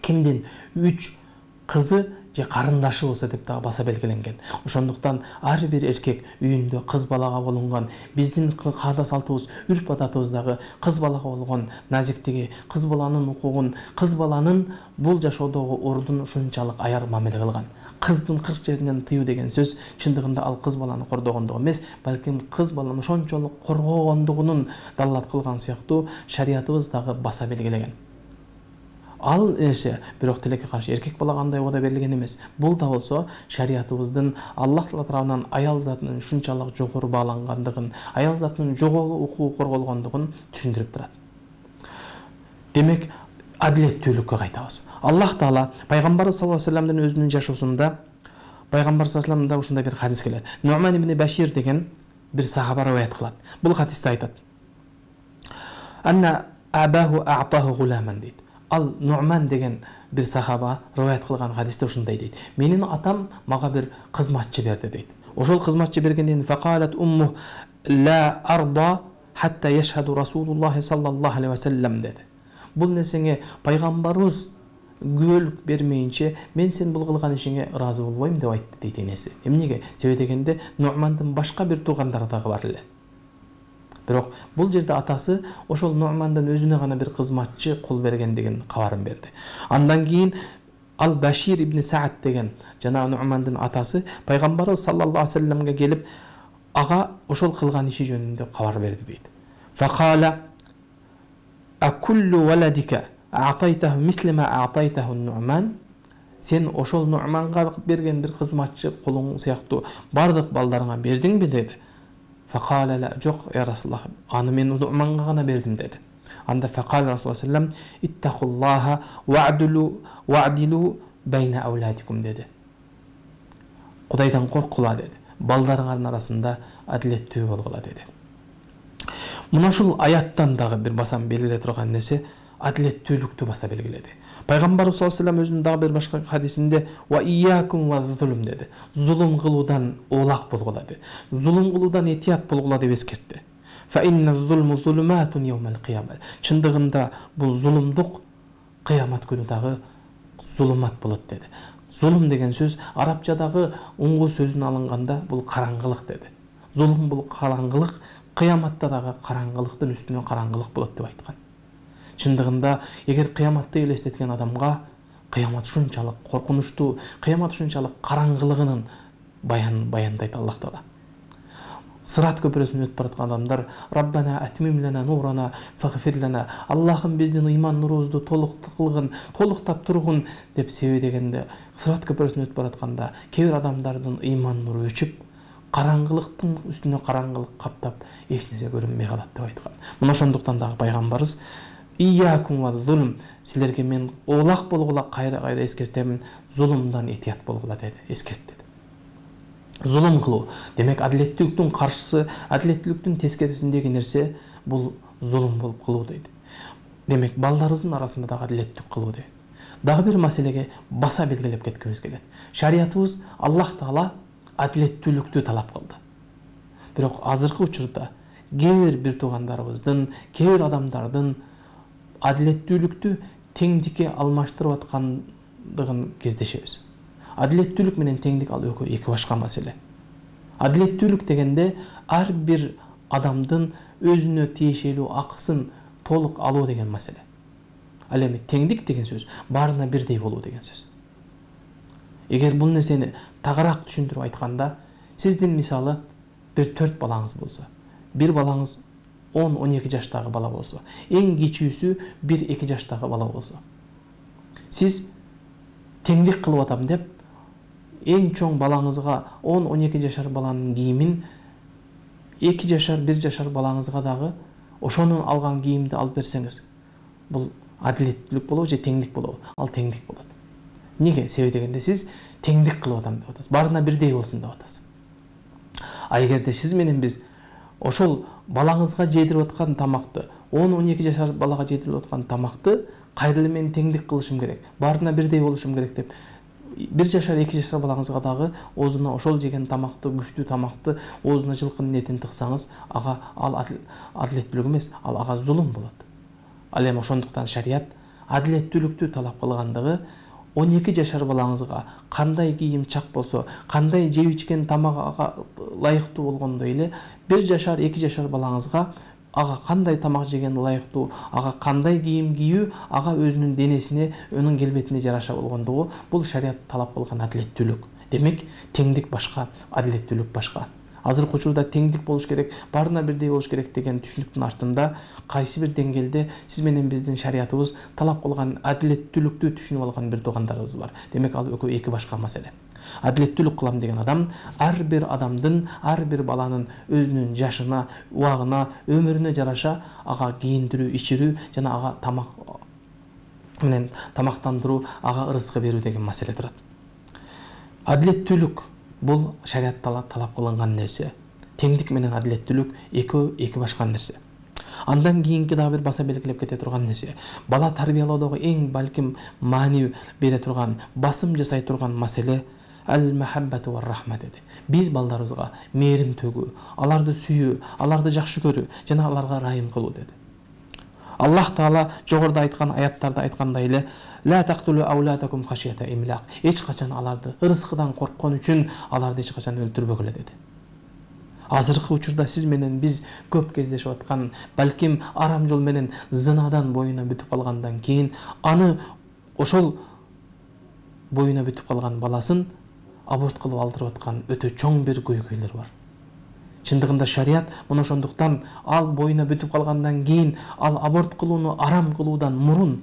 кимдин үч кызы же карындашы болсо деп дагы баса белгиленген. Ошондуктан ар бир эркек үйүндө кыз балага болгон биздин каада салтыбыз, үрп адатыбыздагы кыз балага болгон назиктиги, кыз баланын укугун, кыз баланын бул жашоодогу ордун ушунчалык аяр мамиле кылган. Кыздын кырк жеринен тыюу деген сөз чындыгында ал кыз баланы кордогондугу эмес, балким кыз баланы ошончолук коргогондугунун далилат кылган сыяктуу шариятыбыз дагы баса белгилеген. Ал нерсе бирок тилекке каршы эркек балага андай убада берилген эмес. Бул да болсо шариятыбыздын Аллах Таала тарабынан аял затынын ушунчалык жогору баалангандыгын, аял затынын жогору укугу корголгондугун түшүндүрүп турат. Демек, адилеттүүлүккө кайтабыз. Аллах Таала пайгамбар саллаллаху алейхи ва салламдын өзүнүн жашоосунда пайгамбар саллаллаху алейхи ва салламда ушундай бир хадис келет. Нуъман ибн Башир деген бир сахаба риwayat кылат. Бул хадисте айтат: "Анна абаху а'таху гуламан" дейт. Ал Нуъман деген бир сахаба риwayat кылган хадисте ушундай дейт: "Менин атам мага бир кызматчы берди" дейт. Ошол кызматчы бергенден фaqalat умму ла арда хатта яшхаду Расулуллах саллаллаху алейхи ва саллям деди. Бул нерсеңе пайгамбарыбыз күбөлүк бермейинче мен сен бул кылган ишиңе ыраазы болбойм деп айтты дейт энеси. Эмнеге? Себеби дегенде Нуъмандын башка бир туугандары дагы бар эле. Бирок бул жерде атасы ошол Нуъмандын өзүнө гана бир кызматчы кул бергендигин кабарын берди. Андан кийин Ал Башир ибн Саад деген жана Нуъмандын атасы пайгамбарыбыз саллаллаху алейхи ва салламга келип ага ошол кылган иши жөнүндө кабар берди дейт. Факала акуллу валадика а'тайтаху мисли ма а'тайтаху Нуъман. Сен ошол Нуъманга берген бир кызматчы кулуң сыяктуу бардык балдарыңа бердиңби деди. Факала ла, жок я Расулуллах, аны мен Нуъманга гана бердим деди. Анда факала Расулуллах саллаллаху алейхи ва саллям иттакуллаха вa'дулу вa'дилу байна ауладикум деди. Кудайдан коркула деди. Балдарыңардын арасында адилеттүү болгула деди. Мына ушул аяттан дагы бир басам белгилей турган нерсе адилеттүүлүктү баса белгиледи. Пайгамбарыбыз саллаллаху алейхи ва саллям өзүнүн дагы бир башка хадисинде ва ияакум ва зулум деди. Зулум кылуудан оолак болгула деди. Зулум кылуудан этият болгула деп эскертти. Фа инна зулму зулуматун йаумал кыямат. Чындыгында бул зулумдук кыямат күнү дагы зулумат болот деди. Зулум деген сөз арабчадагы уңгу сөзүн алынганда бул караңгылык деди. Зулум бул караңгылык, кыяматта дагы караңгылыктын үстүнө караңгылык болот деп айткан. Чындыгында эгер кыяматты элестеткен адамга кыямат ушунчалык коркунучтуу, кыямат ушунчалык караңгылыгынын баян баяндайт Аллах Таала. Сырат көпүрөсүнөн өтүп бараткан адамдар Раббана атмим лана нурана фагфир лана. Аллахым биздин ыйман нурубузду толук кылгын, толуктап тургун деп себеби дегенде Сырат көпүрөсүнөн өтүп баратканда кээ бир адамдардын ыйман нуру өчүп, караңгылыктын үстүнө караңгылык каптап, эч нерсе көрүнбөй калат деп айткан. Мына ошондуктан дагы пайгамбарыбыз Ияакум ва зулм, силерге мен оолак болгула кайра-кайра эскертемин, зулумдан этият болгула деди, эскертти. Зулум кылуу, демек адилеттүүлүктүн каршысы, адилеттүүлүктүн тескерисиндеги нерсе бул зулум болуп кылуу дейт. Демек балдарыбыздын арасында дагы адилеттүүлүк кылуу дейт. Дагы бир маселеге баса белгилеп кеткибиз келет. Шариятыбыз Аллах Таала адилеттүүлүктү талап кылды. Бирок азыркы учурда кээ бир бир туугандарыбыздын, кээ бир адамдардын адилеттүүлүктү теңдикке алмаштырып аткандыгын кездешебиз. Адилеттүүлүк менен теңдик ал экөө эки башка маселе. Адилеттүүлүк дегенде ар бир адамдын өзүнө тиешелүү акысын толук алуу деген маселе. Ал эми теңдик деген сөз баарына бирдей болуу деген сөз. Эгер бул нерсени тагыраак түшүндүрүп айтканда, сиздин мисалы бир төрт балаңыз болсо, бир балаңыз он он эки жаштагы бала болсо, эң кичүүсү бир эки жаштагы бала болсо, сиз теңдик кылып атам деп эң чоң балаңызга он он эки жашар баланын кийимин эки жашар бир жашар балаңызга дагы ошонун алган кийимди алып берсеңиз, бул адилеттүүлүк болобу же теңдик болобу? Ал теңдик болот. Неге? Себеби дегенде сиз теңдик кылып атам деп атасыз. Баарына бирдей болсун деп атасыз. А эгерде сиз менен биз ошол балаңызга жедирип аткан тамакты, он он эки жашар балага жедирип аткан тамакты кайра эле мен теңдик кылышым керек, баарына бирдей болушум керек деп бир жашар эки жашар балаңызга дагы оозуна ошол жеген тамакты, күчтүү тамакты, оозуна жылкынын этин тыксаңыз, ага ал адилеттүүлүк эмес, ал ага зулум болот. Ал эми ошондуктан шарият адилеттүүлүктү талап кылгандыгы он эки жашар балаңызга кандай кийим чак болсо, кандай жеп ичкен тамак ага ылайыктуу болгондой эле бир жашар эки жашар балаңызга ага кандай тамак жеген ылайыктуу, ага кандай кийим кийүү ага өзүнүн денесине, өнүн келбетине жараша болгондугу бул шарият талап кылган адилеттүүлүк. Демек, теңдик башка, адилеттүүлүк башка. Азыркы учурда теңдик болуш керек, баарына бирдей болуш керек деген түшүнүктүн артында кайсы бир деңгээлде сиз менен биздин шариятыбыз талап кылган адилеттүүлүктү түшүнүп алган бир туугандарыбыз бар. Демек, ал экөө эки башка маселе. Адилеттүүлүк кылам деген адам ар бир адамдын, ар бир баланын өзүнүн жашына, убагына, өмүрүнө жараша ага кийиндирүү, ичирүү жана ага тамак менен тамактандыруу, ага ырызкы берүү деген маселе турат. Адилеттүүлүк бул шарият талап кылынган нерсе. Теңдик менен адилеттүүлүк экөө эки башка нерсе. Андан кийинки дагы бир баса белгилеп кете турган нерсе. Бала тарбиялоодогу эң балким маани бере турган, басым жасай турган маселе ал-махаббату ва-рахма деди. Биз балдарыбызга мээрим төгүү, аларды сүйүү, аларды жакшы көрүү жана аларга райым кылуу деди. Аллах Таала жогоруда айткан аяттарда айткандай эле ла тактулу аулатакум хашията имлак. Эч качан аларды ырыскыдан корккон үчүн аларды эч качан өлтүрбөгүлө деди. Азыркы учурда сиз менен биз көп кездешип аткан, балким арам жол менен зынадан боюна бүтүп калгандан кийин аны ошол боюна бүтүп калган баласын аборт кылып алдырып аткан өтө чоң бир көйгөйлөр бар. Чындыгында шарият мына ошондуктан ал боюна бүтүп калгандан кийин ал аборт кылууну арам кылуудан мурун,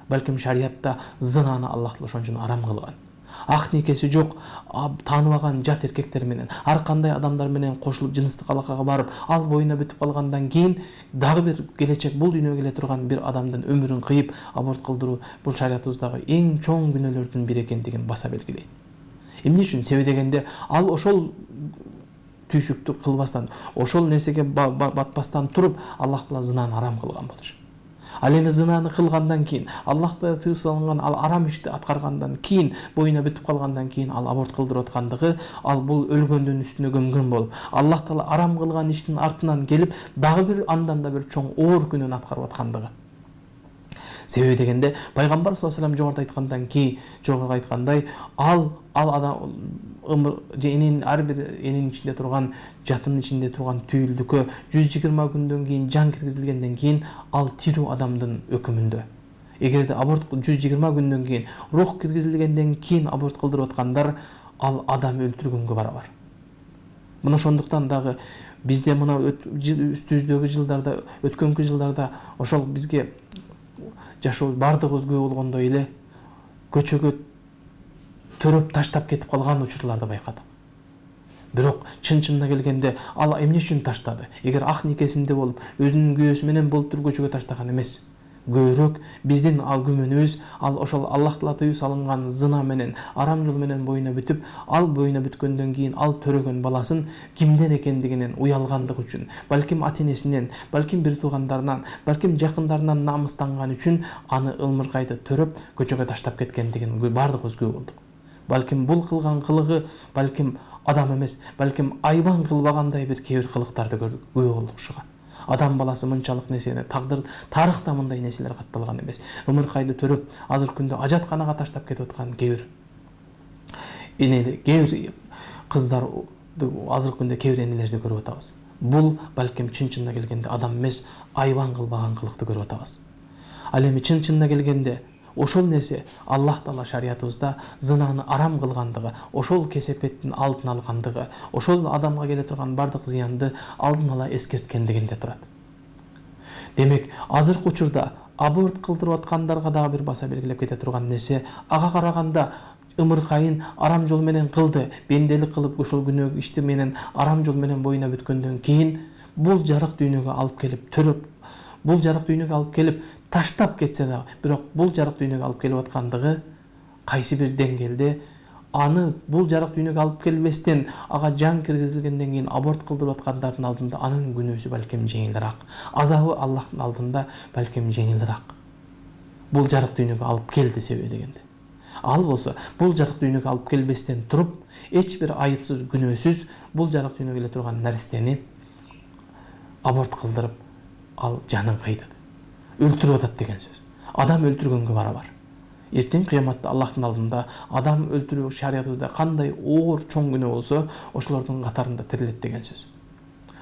балким шариятта зынаны Аллах ошон үчүн арам кылган. Ак никеси жок, тааныбаган жат эркектер менен, ар кандай адамдар менен кошулуп жыныстык алакага барып, ал боюна бүтүп калгандан кийин дагы бир келечек бул дүйнөгө келе турган бир адамдын өмүрүн кыйып аборт кылдыруу бул шариятыбыздагы эң чоң күнөөлөрдүн бири экендигин баса белгилейт. Эмне үчүн? Себеби дегенде ал ошол түйшүктү кылбастан, ошол нерсеге батпастан туруп Аллах Таала зынаны арам кылган болчу. Ал эми зынаны кылгандан кийин, Аллах Таала тыюу салган ал арам ишти аткаргандан кийин, боюна бүтүп калгандан кийин ал аборт кылдырып аткандыгы, ал бул өлгөндүн үстүнө көмгөн болуп, Аллах Таала арам кылган иштин артынан келип, дагы бир андан да бир чоң оор күнөөнү аткарып аткандыгы. Себеби дегенде пайгамбар саллаллаху алейхи вассалам жогоруда айткандан кийин, жогоруда айткандай, ал ал адам өмүр же эненин ар бир эненин ичинде турган, жатынын ичинде турган түйүлдүккө жүз жыйырма күндөн кийин жан киргизилгенден кийин ал тирүү адамдын өкүмүндө. Эгерде аборт жүз жыйырма күндөн кийин рух киргизилгенден кийин аборт кылдырып аткандар, ал адам өлтүргөнгө барабар. Мына ошондуктан дагы бизде мына үстүбүздөгү жылдарда, өткөнкү жылдарда ошол бизге жашоо бардыгыбыз күбө болгондой эле көчөгө төрөп таштап кетип калган учурларды байкадык. Бирок чын-чынына келгенде ал эмне үчүн таштады? Эгер ак никесинде болуп, өзүнүн күйөөсү менен болуп туруп көчөгө таштаган эмес. Көбүрөөк биздин ал күмөнүбүз ал ошол Аллах Таала тыюу салынган зына менен, арам жол менен боюна бүтүп, ал боюна бүткөндөн кийин ал төрөгөн баласын кимден экендигинен уялгандыгы үчүн, балким ата-энесинен, балким бир туугандарынан, балким жакындарынан намыстанган үчүн аны ылмыркайды төрөп көчөгө таштап кеткендигин бардыгыбыз күбө болдук. Балким бул кылган кылыгы балким адам эмес, балким айбан кылбагандай бир кээ бир кылыктарды көрдүк, күбө болдук ушуга. Адам баласы мынчалык нерсени, тагдыр, тарыхта мындай нерселер катталган эмес. Ымыркайды төрөп, азыркы күндө ажатканага таштап кетип аткан кээ бир энелер, кээ бир кыздар, азыркы күндө кээ бир энелерди көрүп атабыз. Бул балким чын-чынына келгенде адам эмес, айбан кылбаган кылыкты көрүп атабыз. Ал эми чын чынына келгенде ошол нерсе Аллах Таала шариятыбызда зынаны арам кылгандыгы, ошол кесепеттин алдын алгандыгы, ошол адамга келе турган бардык зыянды алдын ала эскерткендигинде турат. Демек, азыркы учурда аборт кылдырып аткандарга дагы бир баса белгилеп кете турган нерсе, ага караганда ымыркайын арам жол менен кылды, бенделик кылып ошол күнөө ишти менен арам жол менен боюна бүткөндөн кийин бул жарык дүйнөгө алып келип төрөп, бул жарык дүйнөгө алып келип таштап кетсе дагы, бирок бул жарык дүйнөгө алып келип аткандыгы кайсы бир деңгээлде аны бул жарык дүйнөгө алып келбестен ага жан киргизилгенден кийин аборт кылдырып аткандардын алдында анын күнөөсү балким жеңилирээк, азабы Аллахтын алдында балким жеңилирээк. Бул жарык дүйнөгө алып келди себеби дегенде. Ал болсо бул жарык дүйнөгө алып келбестен туруп, эч бир айыпсыз, күнөөсүз бул жарык дүйнөгө келе турган наристени аборт кылдырып, ал жанын кыйды, өлтүрүп атат деген сөз. Адам өлтүргөнгө барабар. Эртең кыяматта Аллахтын алдында адам өлтүрүү шариятыбызда кандай оор чоң күнөө болсо, ошолордун катарында тирилет деген сөз.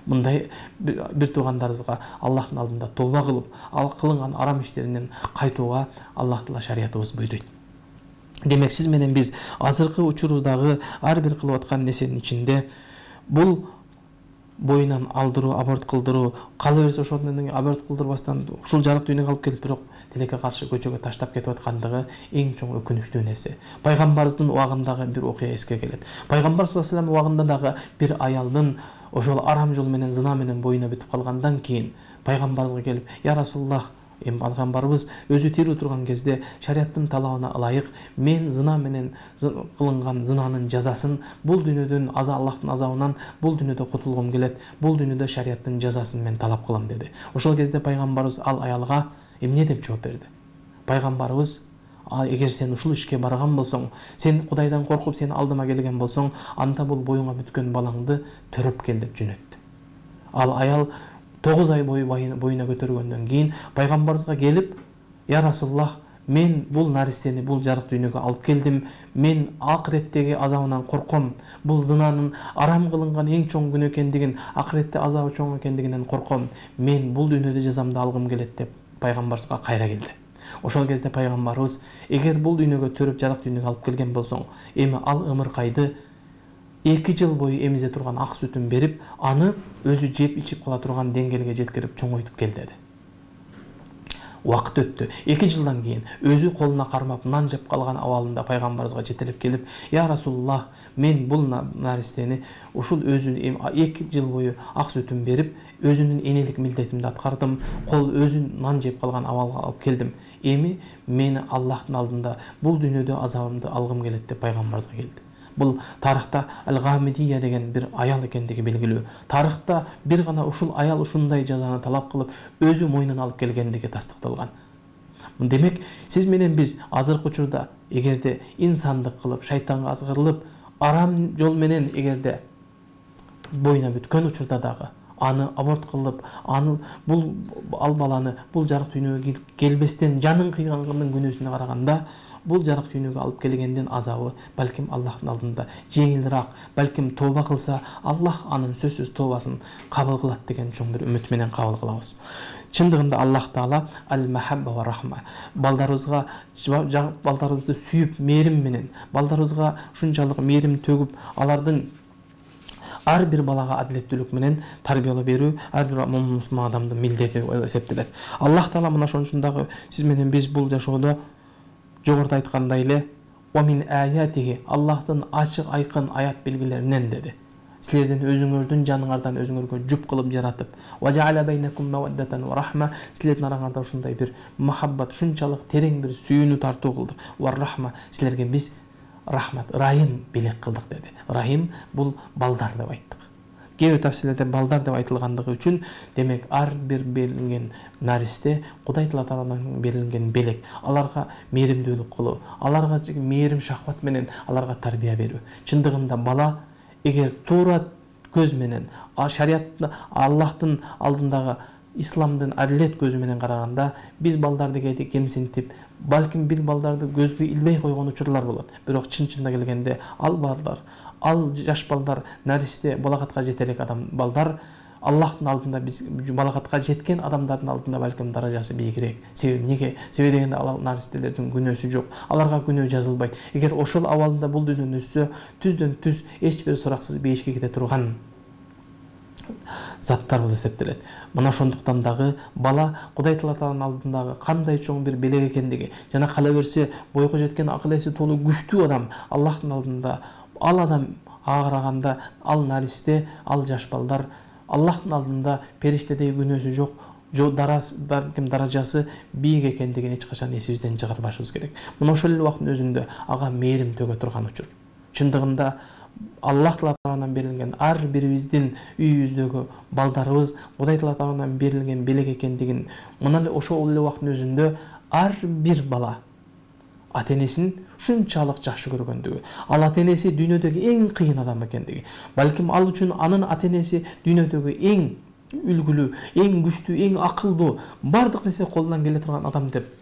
Мындай бир туугандарыбызга Аллахтын алдында тооба кылып, ал кылынган арам иштеринен кайтууга Аллах Таала шариятыбыз буйруйт. Демек, сиз менен биз азыркы учурдагы ар бир кылып аткан нерсенин ичинде бул боюнан алдыруу, аборт кылдыруу, кала берсе ошол менен аборт кылдырбастан ушул жарык дүйнөгө алып келип, бирок тилекке каршы көчөгө таштап кетип аткандыгы эң чоң өкүнүчтүү нерсе. Пайгамбарыбыздын убагындагы бир окуя эске келет. Пайгамбар саллаллаху алейхи вассалам убагында дагы бир аялдын ошол арам жол менен, зына менен боюна бүтүп калгандан кийин пайгамбарыбызга келип: "Я Расулуллах, эми пайгамбарыбыз өзү тирүү турган кезде шариаттын талабына ылайык мен зына менен кылынган зынанын жазасын бул дүйнөдөн, аза Аллахтын азабынан бул дүйнөдө кутулгум келет, бул дүйнөдө шариаттын жазасын мен талап кылам" деди. Ошол кезде пайгамбарыбыз ал аялга эмне деп жооп берди? Пайгамбарыбыз: "Эгер сен ушул ишке барган болсоң, сен Кудайдан коркуп сени алдыма келген болсоң, анда бул боюңа бүткөн балаңды төрөп кел" деп жөнөттү. Ал аял тогуз ай бою боюна көтөргөндөн кийин пайгамбарыбызга келип: "Я Расулуллах, мен бул наристени бул жарык дүйнөгө алып келдим. Мен акыреттеги азабынан корком. Бул зынанын арам кылынган эң чоң күнөө экендигин, акыретте азабы чоң экендигинен корком. Мен бул дүйнөдө жазамды алгым келет" деп пайгамбарыбызга кайра келди. Ошол кезде пайгамбарыбыз: "Эгер бул дүйнөгө төрөп жарык дүйнөгө алып келген болсоң, эми ал ымыркайды эки жыл бою эмизе турган ак сүтүн берип, аны өзү жеп ичип кала турган деңгээлге жеткирип чоңойтуп кел" деди. Убакыт өттү. эки жылдан кийин өзү колуна кармап нан жеп калган абалында пайгамбарыбызга жетелеп келип: "Я Расулуллах, мен бул наристени ушул өзү эки жыл бою ак сүтүн берип, өзүнүн энелик милдетимди аткардым, кол өзү нан жеп калган абалга алып келдим. Эми мени Аллахтын алдында бул дүйнөдө азабымды алгым келет" деп пайгамбарыбызга келди. Бул тарыхта Ал-Гамидия деген бир аял экендиги белгилүү. Тарыхта бир гана ушул аял ушундай жазаны талап кылып, өзү мойнуна алып келгендиги тастыкталган. Демек, сиз менен биз азыркы учурда эгерде инсандык кылып, шайтанга азгырылып, арам жол менен эгерде боюна бүткөн учурда дагы аны аборт кылып, аны бул ал баланы бул жарык дүйнөгө келбестен жанын кыйганганын күнөөсүнө караганда, бул жарык дүйнөгө алып келгендин азабы балким Аллахтын алдында жеңилирээк, балким тооба кылса Аллах анын сөзсүз тообасын кабыл кылат деген чоң бир үмүт менен кабыл кылабыз. Чындыгында Аллах Таала ал-махабба ва рахма, балдарыбызга балдарыбызды сүйүп, мээрим менен, балдарыбызга ушунчалык мээрим төгүп, алардын ар бир балага адилеттүүлүк менен тарбиялап берүү ар бир мусулман адамдын милдети деп эсептелет. Аллах Таала мына ошондагы сиз менен биз бул жашоодо жогоруда айткандай эле "Омин аятихи", Аллахтын ачык айкын аят белгилеринен деди. Силердин өзүңөрдүн жаныңардан өзүңөргө жуп кылып жаратып, "Ва жа'ала байнакум маваддатан ва рахма", силердин араңарда ушундай бир махаббат, ушунчалык терең бир сүйүүнү тартуу кылдык. "Ва рахма", силерге биз рахмат, райым белек кылдык деди. Рахим бул балдар деп айттык. Кээ бир тафсилерде балдар деп айтылгандыгы үчүн, демек ар бир берилген наристе Кудай тарабынан берилген белек, аларга мээримдүүлүк кылуу, аларга мээрим шахват менен аларга тарбия берүү. Чындыгында бала эгер туура көз менен, шариятты Аллахтын алдындагы исламдын адилет көзү менен караганда, биз балдарды кемсинтип, балким бир балдарды көзгө илбей койгон учурлар болот. Бирок чын чынына келгенде ал балдар, ал жаш балдар, наристе балагатка жете элек адам балдар Аллахтын алдында биз балагатка жеткен адамдардын алдында балким даражасы бийигирээк. Себеби эмнеге? Себеби дегенде ал наристелердин күнөөсү жок. Аларга күнөө жазылбайт. Эгер ошол абалында бул дүйнөнү өссө, түздөн түз эч бир сураксыз бейишке кире турган заттар болуп эсептелет. Мына ошондуктан дагы бала Кудай Тааланын алдындагы кандай чоң бир белек экендиги жана кала берсе бойго жеткен акыл эси толуу күчтүү адам Аллахтын алдында ал адам ага караганда ал наристе, ал жаш балдар Аллахтын алдында периштедей күнөөсү жок, балким даражасы бийик экендигин эч качан эсибизден чыгарбашыбыз керек. Мына ошол эле убакыттын өзүндө ага мээрим төгө турган учур. Чындыгында Аллах тарабынан берилген ар бирибиздин үйүбүздөгү балдарыбыз Кудай тарабынан берилген белек экендигин мына эле ошол эле убакыттын өзүндө ар бир бала ата-энесин шунчалык жакшы көргөндүгү, ал ата-энеси дүйнөдөгү эң кыйын адам экендиги, балким ал үчүн анын ата-энеси дүйнөдөгү эң үлгүлүү, эң күчтүү, эң акылдуу, бардык нерсе колунан келе турган адам деп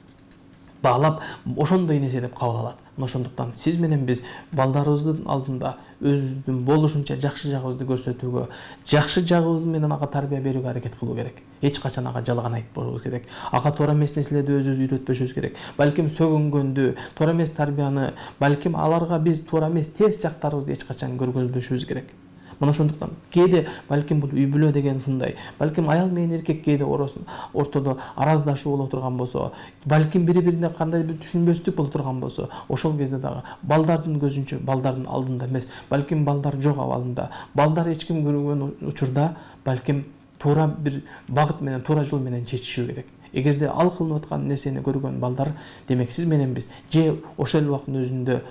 баалап, ошондой нерсе деп кабыл алат. Мына ошондуктан сиз менен биз балдарыбыздын алдында өзүбүздүн болушунча жакшы жагыбызды көрсөтүүгө, жакшы жагыбыз менен ага тарбия берүүгө аракет кылуу керек. Эч качан ага жалган айтпабыз керек. Ага туура эмес нерселерди өзүбүз үйрөтпөшүбүз керек. Балким сөгүнгөндү, туура эмес тарбияны, балким аларга биз туура эмес терс жактарыбызды эч качан көргөзбөшүбүз керек. Мына ошондуктан кээде балким бул үй бүлө деген ушундай, балким аял менен эркек кээде ортодо араздашуу боло турган болсо, балким бири-бирине кандай бир түшүнбөстүк боло турган болсо, ошол кезде дагы балдардын көзүнчө, балдардын алдында эмес, балким балдар жок абалында, балдар эч ким көргөн учурда балким туура бир багыт менен, туура жол менен чечишүү керек. Эгерде ал кылынып аткан нерсени көргөн балдар, демек сиз менен биз же ошол убакыттын өзүндө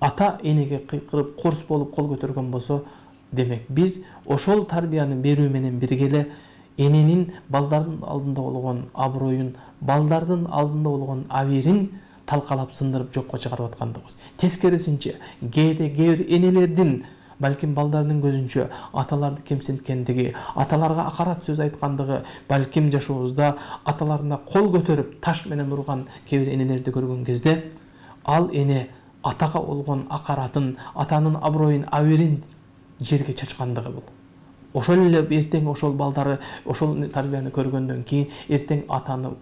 ата энеге кыйкырып корс болуп кол көтөргөн болсо, демек биз ошол тарбияны берүү менен бирге эле эненин балдардын алдында болгон аброюн, балдардын алдында болгон абийирин талкалап сындырып жокко чыгарып аткандыгыбыз. Тескерисинче, кээде кээ бир энелердин балким балдардын көзүнчө аталарды кемсинткендиги, аталарга акарат сөз айткандыгы, балким жашообузда аталарына кол көтөрүп таш менен урган кээ бир энелерди көргөн кезде, ал эне атага болгон акаратын, атанын аброюн, абийирин жерге чачкандыгы бул. Ошол эле эртең ошол балдары ошол тарбияны көргөндөн кийин эртең атаны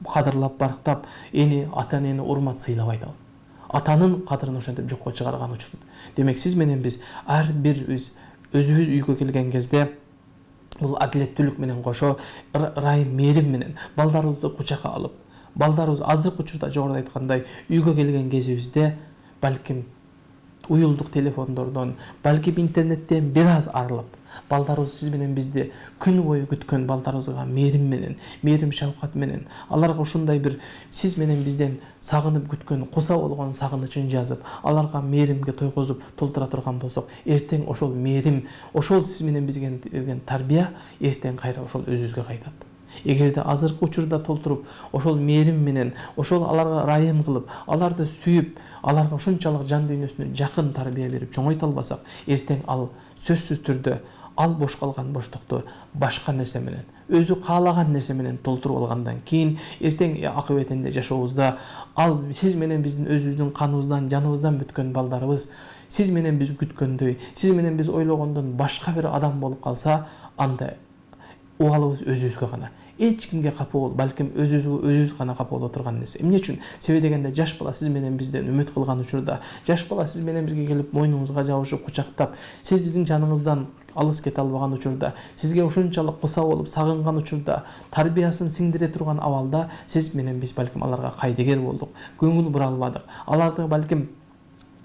кадырлап барктап, эне ата-энени урмат сыйлабайт ал. Атанын кадырын ошентип жокко чыгарган учурда. Демек сиз менен биз ар бирибиз өзүбүз үйгө келген кезде бул адилеттүүлүк менен кошо ырайым, мээрим менен балдарыбызды кучакка алып, балдарыбыз азыркы учурда жогоруда айткандай үйгө келген кезибизде балким уюлдук телефондордон, балким интернеттен бир аз арылып, балдарыбыз сиз менен бизди күн бою күткөн балдарыбызга мээрим менен, мээрим шафкат менен, аларга ушундай бир сиз менен бизден сагынып күткөн, куса болгон сагынычын жазып, аларга мээримге тойгозуп толтура турган болсок, эртең ошол мээрим, ошол сиз менен бизге берген тарбия эртең кайра ошол өзүбүзгө кайтат. Эгерде азыркы учурда толтуруп, ошол мээрим менен, ошол аларга ырайым кылып, аларды сүйүп, аларга ушунчалык жан дүйнөсүнө жакын тарбия берип чоңойто албасак, эртең ал сөзсүз түрдө ал бош калган боштукту башка нерсе менен, өзү каалаган нерсе менен толтуруп алгандан кийин эртең акыбетинде жашообузда ал сиз менен биздин өзүбүздүн каныбыздан, жаныбыздан бүткөн балдарыбыз сиз менен биз күткөндөй, сиз менен биз ойлогондон башка бир адам болуп калса, анда убалыбыз өзүбүзгө гана. Эч кимге капа бол, балким өзүбүзгө өзүбүз гана капа боло турган нерсе. Эмне үчүн? Себеби дегенде жаш бала сиз менен бизден үмүт кылган учурда, жаш бала сиз менен бизге келип мойнуңузга жабышып кучактап, сиздин жаныңыздан алыс кете албаган учурда, сизге ушунчалык куса болуп сагынган учурда, тарбиясын сиңдире турган абалда сиз менен биз балким аларга кайдыгер болдук, көңүл бура албадык. Аларды балким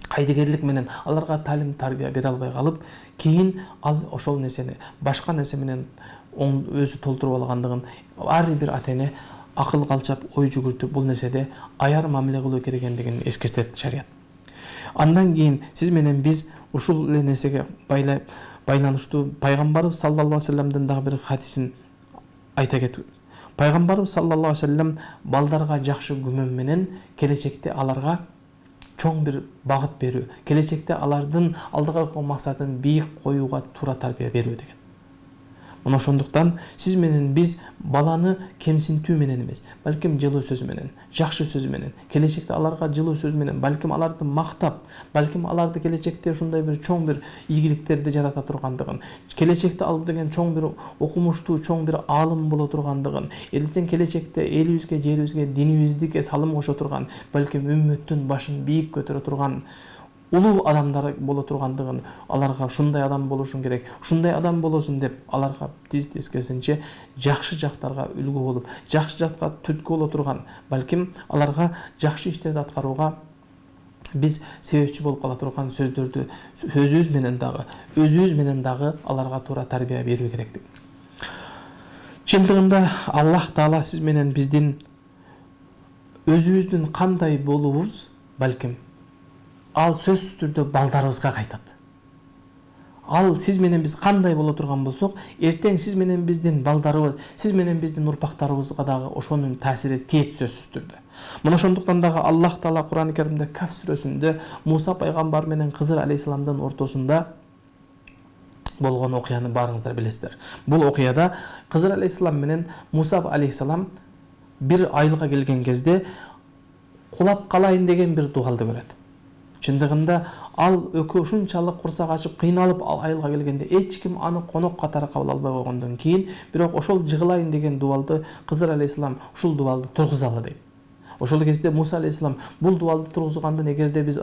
кайдыгерлик менен аларга талим тарбия бере албай калып, кийин ал ошол нерсени башка нерсе менен өзү толтуруп алгандыгын ар бир ата-эне акыл калчап ой жүгүртүп бул нерседе аяр мамиле кылуу керек экендигин эскертет шарият. Андан кийин сиз менен биз ушул эле нерсеге байланыштуу пайгамбарыбыз саллаллаху алейхи вассаламдын дагы бир хадисин айта кетебиз. Пайгамбарыбыз саллаллаху алейхи вассалам балдарга жакшы күмөн менен келечекте аларга чоң бир багыт берүү, келечекте алардын алдыга койгон максатын бийик коюуга туура тарбия берүү деген. Мына ошондуктан сиз менен биз баланы кемсинтүү менен эмес, балким жылуу сөз менен, жакшы сөз менен, келечекте аларга жылуу сөз менен, балким аларды мактап, балким аларды келечекте ушундай бир чоң бир ийгиликтерди жарата тургандыгын, келечекте ал деген чоң бир окумуштуу, чоң бир аалым боло тургандыгын, эртең келечекте элибизге, жерибизге, динибизге салым кошо турган, балким үммөттүн башын бийик көтөрө турган улуу адамдар боло тургандыгын, аларга ушундай адам болушун керек, ушундай адам болосун деп аларга тиз тескерисинче жакшы жактарга үлгү болуп, жакшы жакка түрткү боло турган, балким аларга жакшы иштерди аткарууга биз себепчи болуп кала турган сөздөрдү өзүбүз менен дагы, өзүбүз менен дагы аларга туура тарбия берүү керектик. Чындыгында Аллах Таала сиз менен биздин өзүбүздүн кандай болуубуз, балким ал сөзсүз түрдө балдарыбызга кайтат. Ал сиз менен биз кандай боло турган болсок, эртең сиз менен биздин балдарыбыз, сиз менен биздин урпактарыбызга дагы ошонун таасири тиет сөзсүз түрдө. Мына ошондуктан дагы Аллах Таала Кур'ан-ы Каримде Каф сүрөсүндө Муса пайгамбар менен Кызыр алейхисаламдын ортосунда болгон окуяны баарыңыздар билесиздер. Бул окуяда Кызыр алейхисалам менен Муса алейхисалам бир айылга келген кезде кулап калайын деген бир дуалды көрөт. Чындыгында ал экөө ушунчалык курсак ачып кыйналып ал айылга келгенде эч ким аны конок катары кабыл албай койгондон кийин, бирок ошол жыгылайын деген дуалды Кызыр алейхисалам ушул дуалды тургузалы дейт. Ошол кезде Муса алейхисалам бул дуалды тургузгандын эгерде биз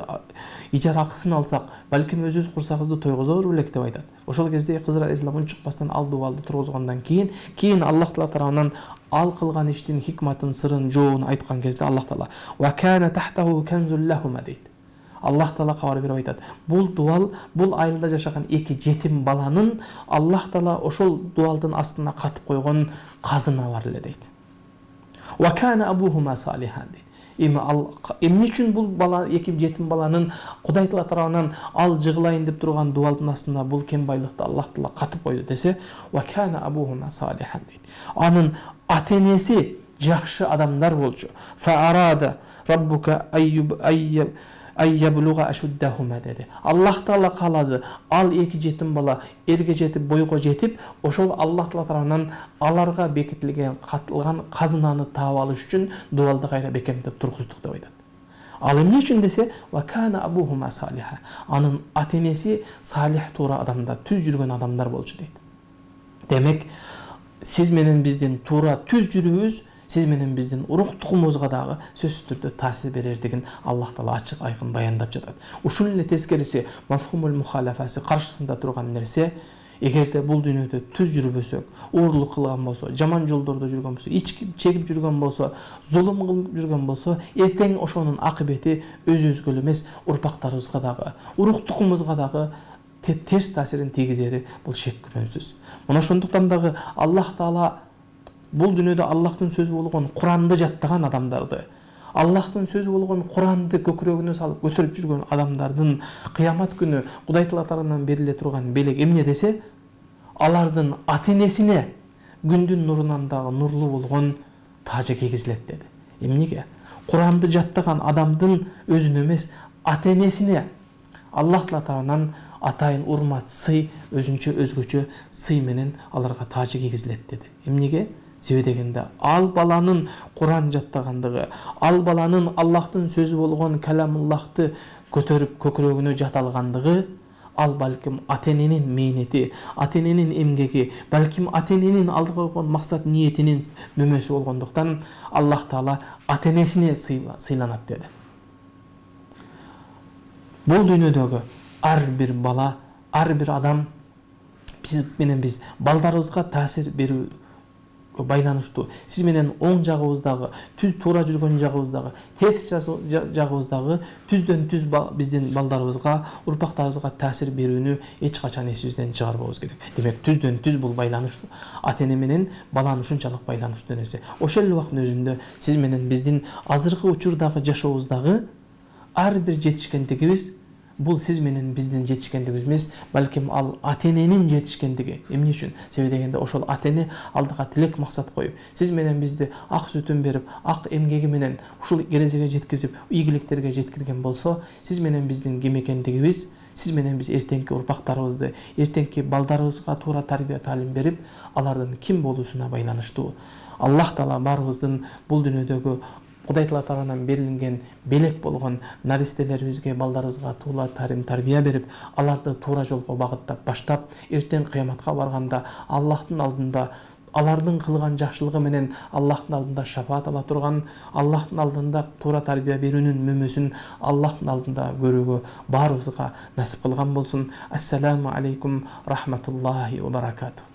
ижара акысын алсак, балким өзүбүз курсагыбызды тойгузор белек деп айтат. Ошол кезде Кызыр алейхисалам унчукпастан ал дуалды тургузгандан кийин, кийин Аллах Таала тарабынан ал кылган иштин хикматын, сырын, жообун айткан кезде Аллах Таала «Ва кана тахтаху канзул лахума» дейт. Аллах Таала кабар берип айтат. Бул дуал, бул айылда жашаган эки жетим баланын Аллах Таала ошол дуалдын астына катып койгон казына бар эле дейт. Ва кана абухума салихан дейт. Эми ал эмне үчүн бул бала, эки жетим баланын Кудай Таала тарабынан ал жыгылайын деп турган дуалдын астына бул кем байлыкты Аллах Таала катып койду десе, ва кана абухума салихан дейт. Анын ата-энеси жакшы адамдар болчу. Фа арада раббука айюб айяб айябулуга ашуддахума деди. Аллах Таала каалады, ал эки жетим бала эрге жетип, бойго жетип, ошол Аллах Таала тарабынан аларга бекитилген, катылган казынаны таап алыш үчүн дуалды кайра бекемдеп тургуздук деп айтат. Ал эмне үчүн десе, ва кана абухума салиха. Анын ата-энеси салих туура адамдар, түз жүргөн адамдар болчу дейт. Демек, сиз менен биздин туура түз жүрүүбүз сиз менен биздин уруктугубузга дагы сөзсүз түрдө таасир берердигин Аллах Таала ачык айкын баяндап жатат. Ушул эле тескериси мафхумул мухалафасы каршысында турган нерсе, эгерде бул дүйнөдө түз жүрбөсөк, уурлук кылган болсо, жаман жолдордо жүргөн болсо, ички чегип жүргөн болсо, зулум кылып жүргөн болсо, эртең ошонун акыбети өзүбүзгө эле эмес, урпактарыбызга дагы, уруктугубузга дагы терс таасирин тийгизери бул шек күмөнсүз. Мына ошондуктан дагы Аллах Таала бул дүйнөдө Аллахтын сөзү болгон Куранды жаттаган адамдарды, Аллахтын сөзү болгон Куранды көкүрөгүнө салып көтөрүп жүргөн адамдардын кыямат күнү Кудай Таала тарабынан бериле турган белек эмне десе, алардын ата-энесине күндүн нурунан дагы нурлуу болгон тажы кийгизилет деди. Эмнеге? Куранды жаттаган адамдын өзүнө эмес, ата-энесине Аллах Таала тарабынан атайын урмат, сый, өзүнчө өзгөчө сый менен аларга тажы кийгизилет деди. Эмнеге? Себеби дегенде ал баланын Куран жаттагандыгы, ал баланын Аллахтын сөзү болгон каламуллахты көтөрүп көкүрөгүнө жата алгандыгы, ал балким ата-эненин мээнети, ата-эненин эмгеги, балким ата-эненин алдыга койгон максат ниетинин мөмөсү болгондуктан Аллах Таала ата-энесине сыйланат деди. Бул дүйнөдөгү ар бир бала, ар бир адам биз менен биз балдарыбызга таасир берүү байланыштуу. Сиз менен оң жагыбыздагы, түз туура жүргөн жагыбыздагы, терс жагыбыздагы түздөн түз биздин балдарыбызга, урпактарыбызга таасир берүүнү эч качан эсибизден чыгарбабыз керек. Демек, түздөн түз бул байланыштуу. Ата-эне менен баланын ушунчалык байланыштуу нерсе. Ошол эле убакыттын өзүндө сиз менен биздин азыркы учурдагы жашообуздагы ар бир жетишкендигибиз бул сиз менен биздин жетишкендигибиз эмес, балким ал ата-эненин жетишкендиги. Эмне үчүн? Себеби дегенде ошол ата-эне алдыга тилек максат коюп, сиз менен бизди ак сүтүн берип, ак эмгеги менен ушул келечекке жеткизип, ийгиликтерге жеткирген болсо, сиз менен биздин ким экендигибиз сиз менен биз эртеңки урпактарыбызды, эртеңки балдарыбызга туура тарбия таалим берип, алардын ким болуусуна байланыштуу. Аллах Таала баарыбыздын бул дүйнөдөгү Кудай Таала тарабынан берилген белек болгон наристелерибизге, балдарыбызга туура тарим тарбия берип, аларды туура жолго багыттап баштап, эртең кыяматка барганда Аллахтын алдында алардын кылган жакшылыгы менен Аллахтын алдында шафаат ала турган, Аллахтын алдында туура тарбия берүүнүн мөмөсүн Аллахтын алдында көрүүгө баарыбызга насип кылган болсун. Ассаламу алейкум рахматуллахи ва баракатуh.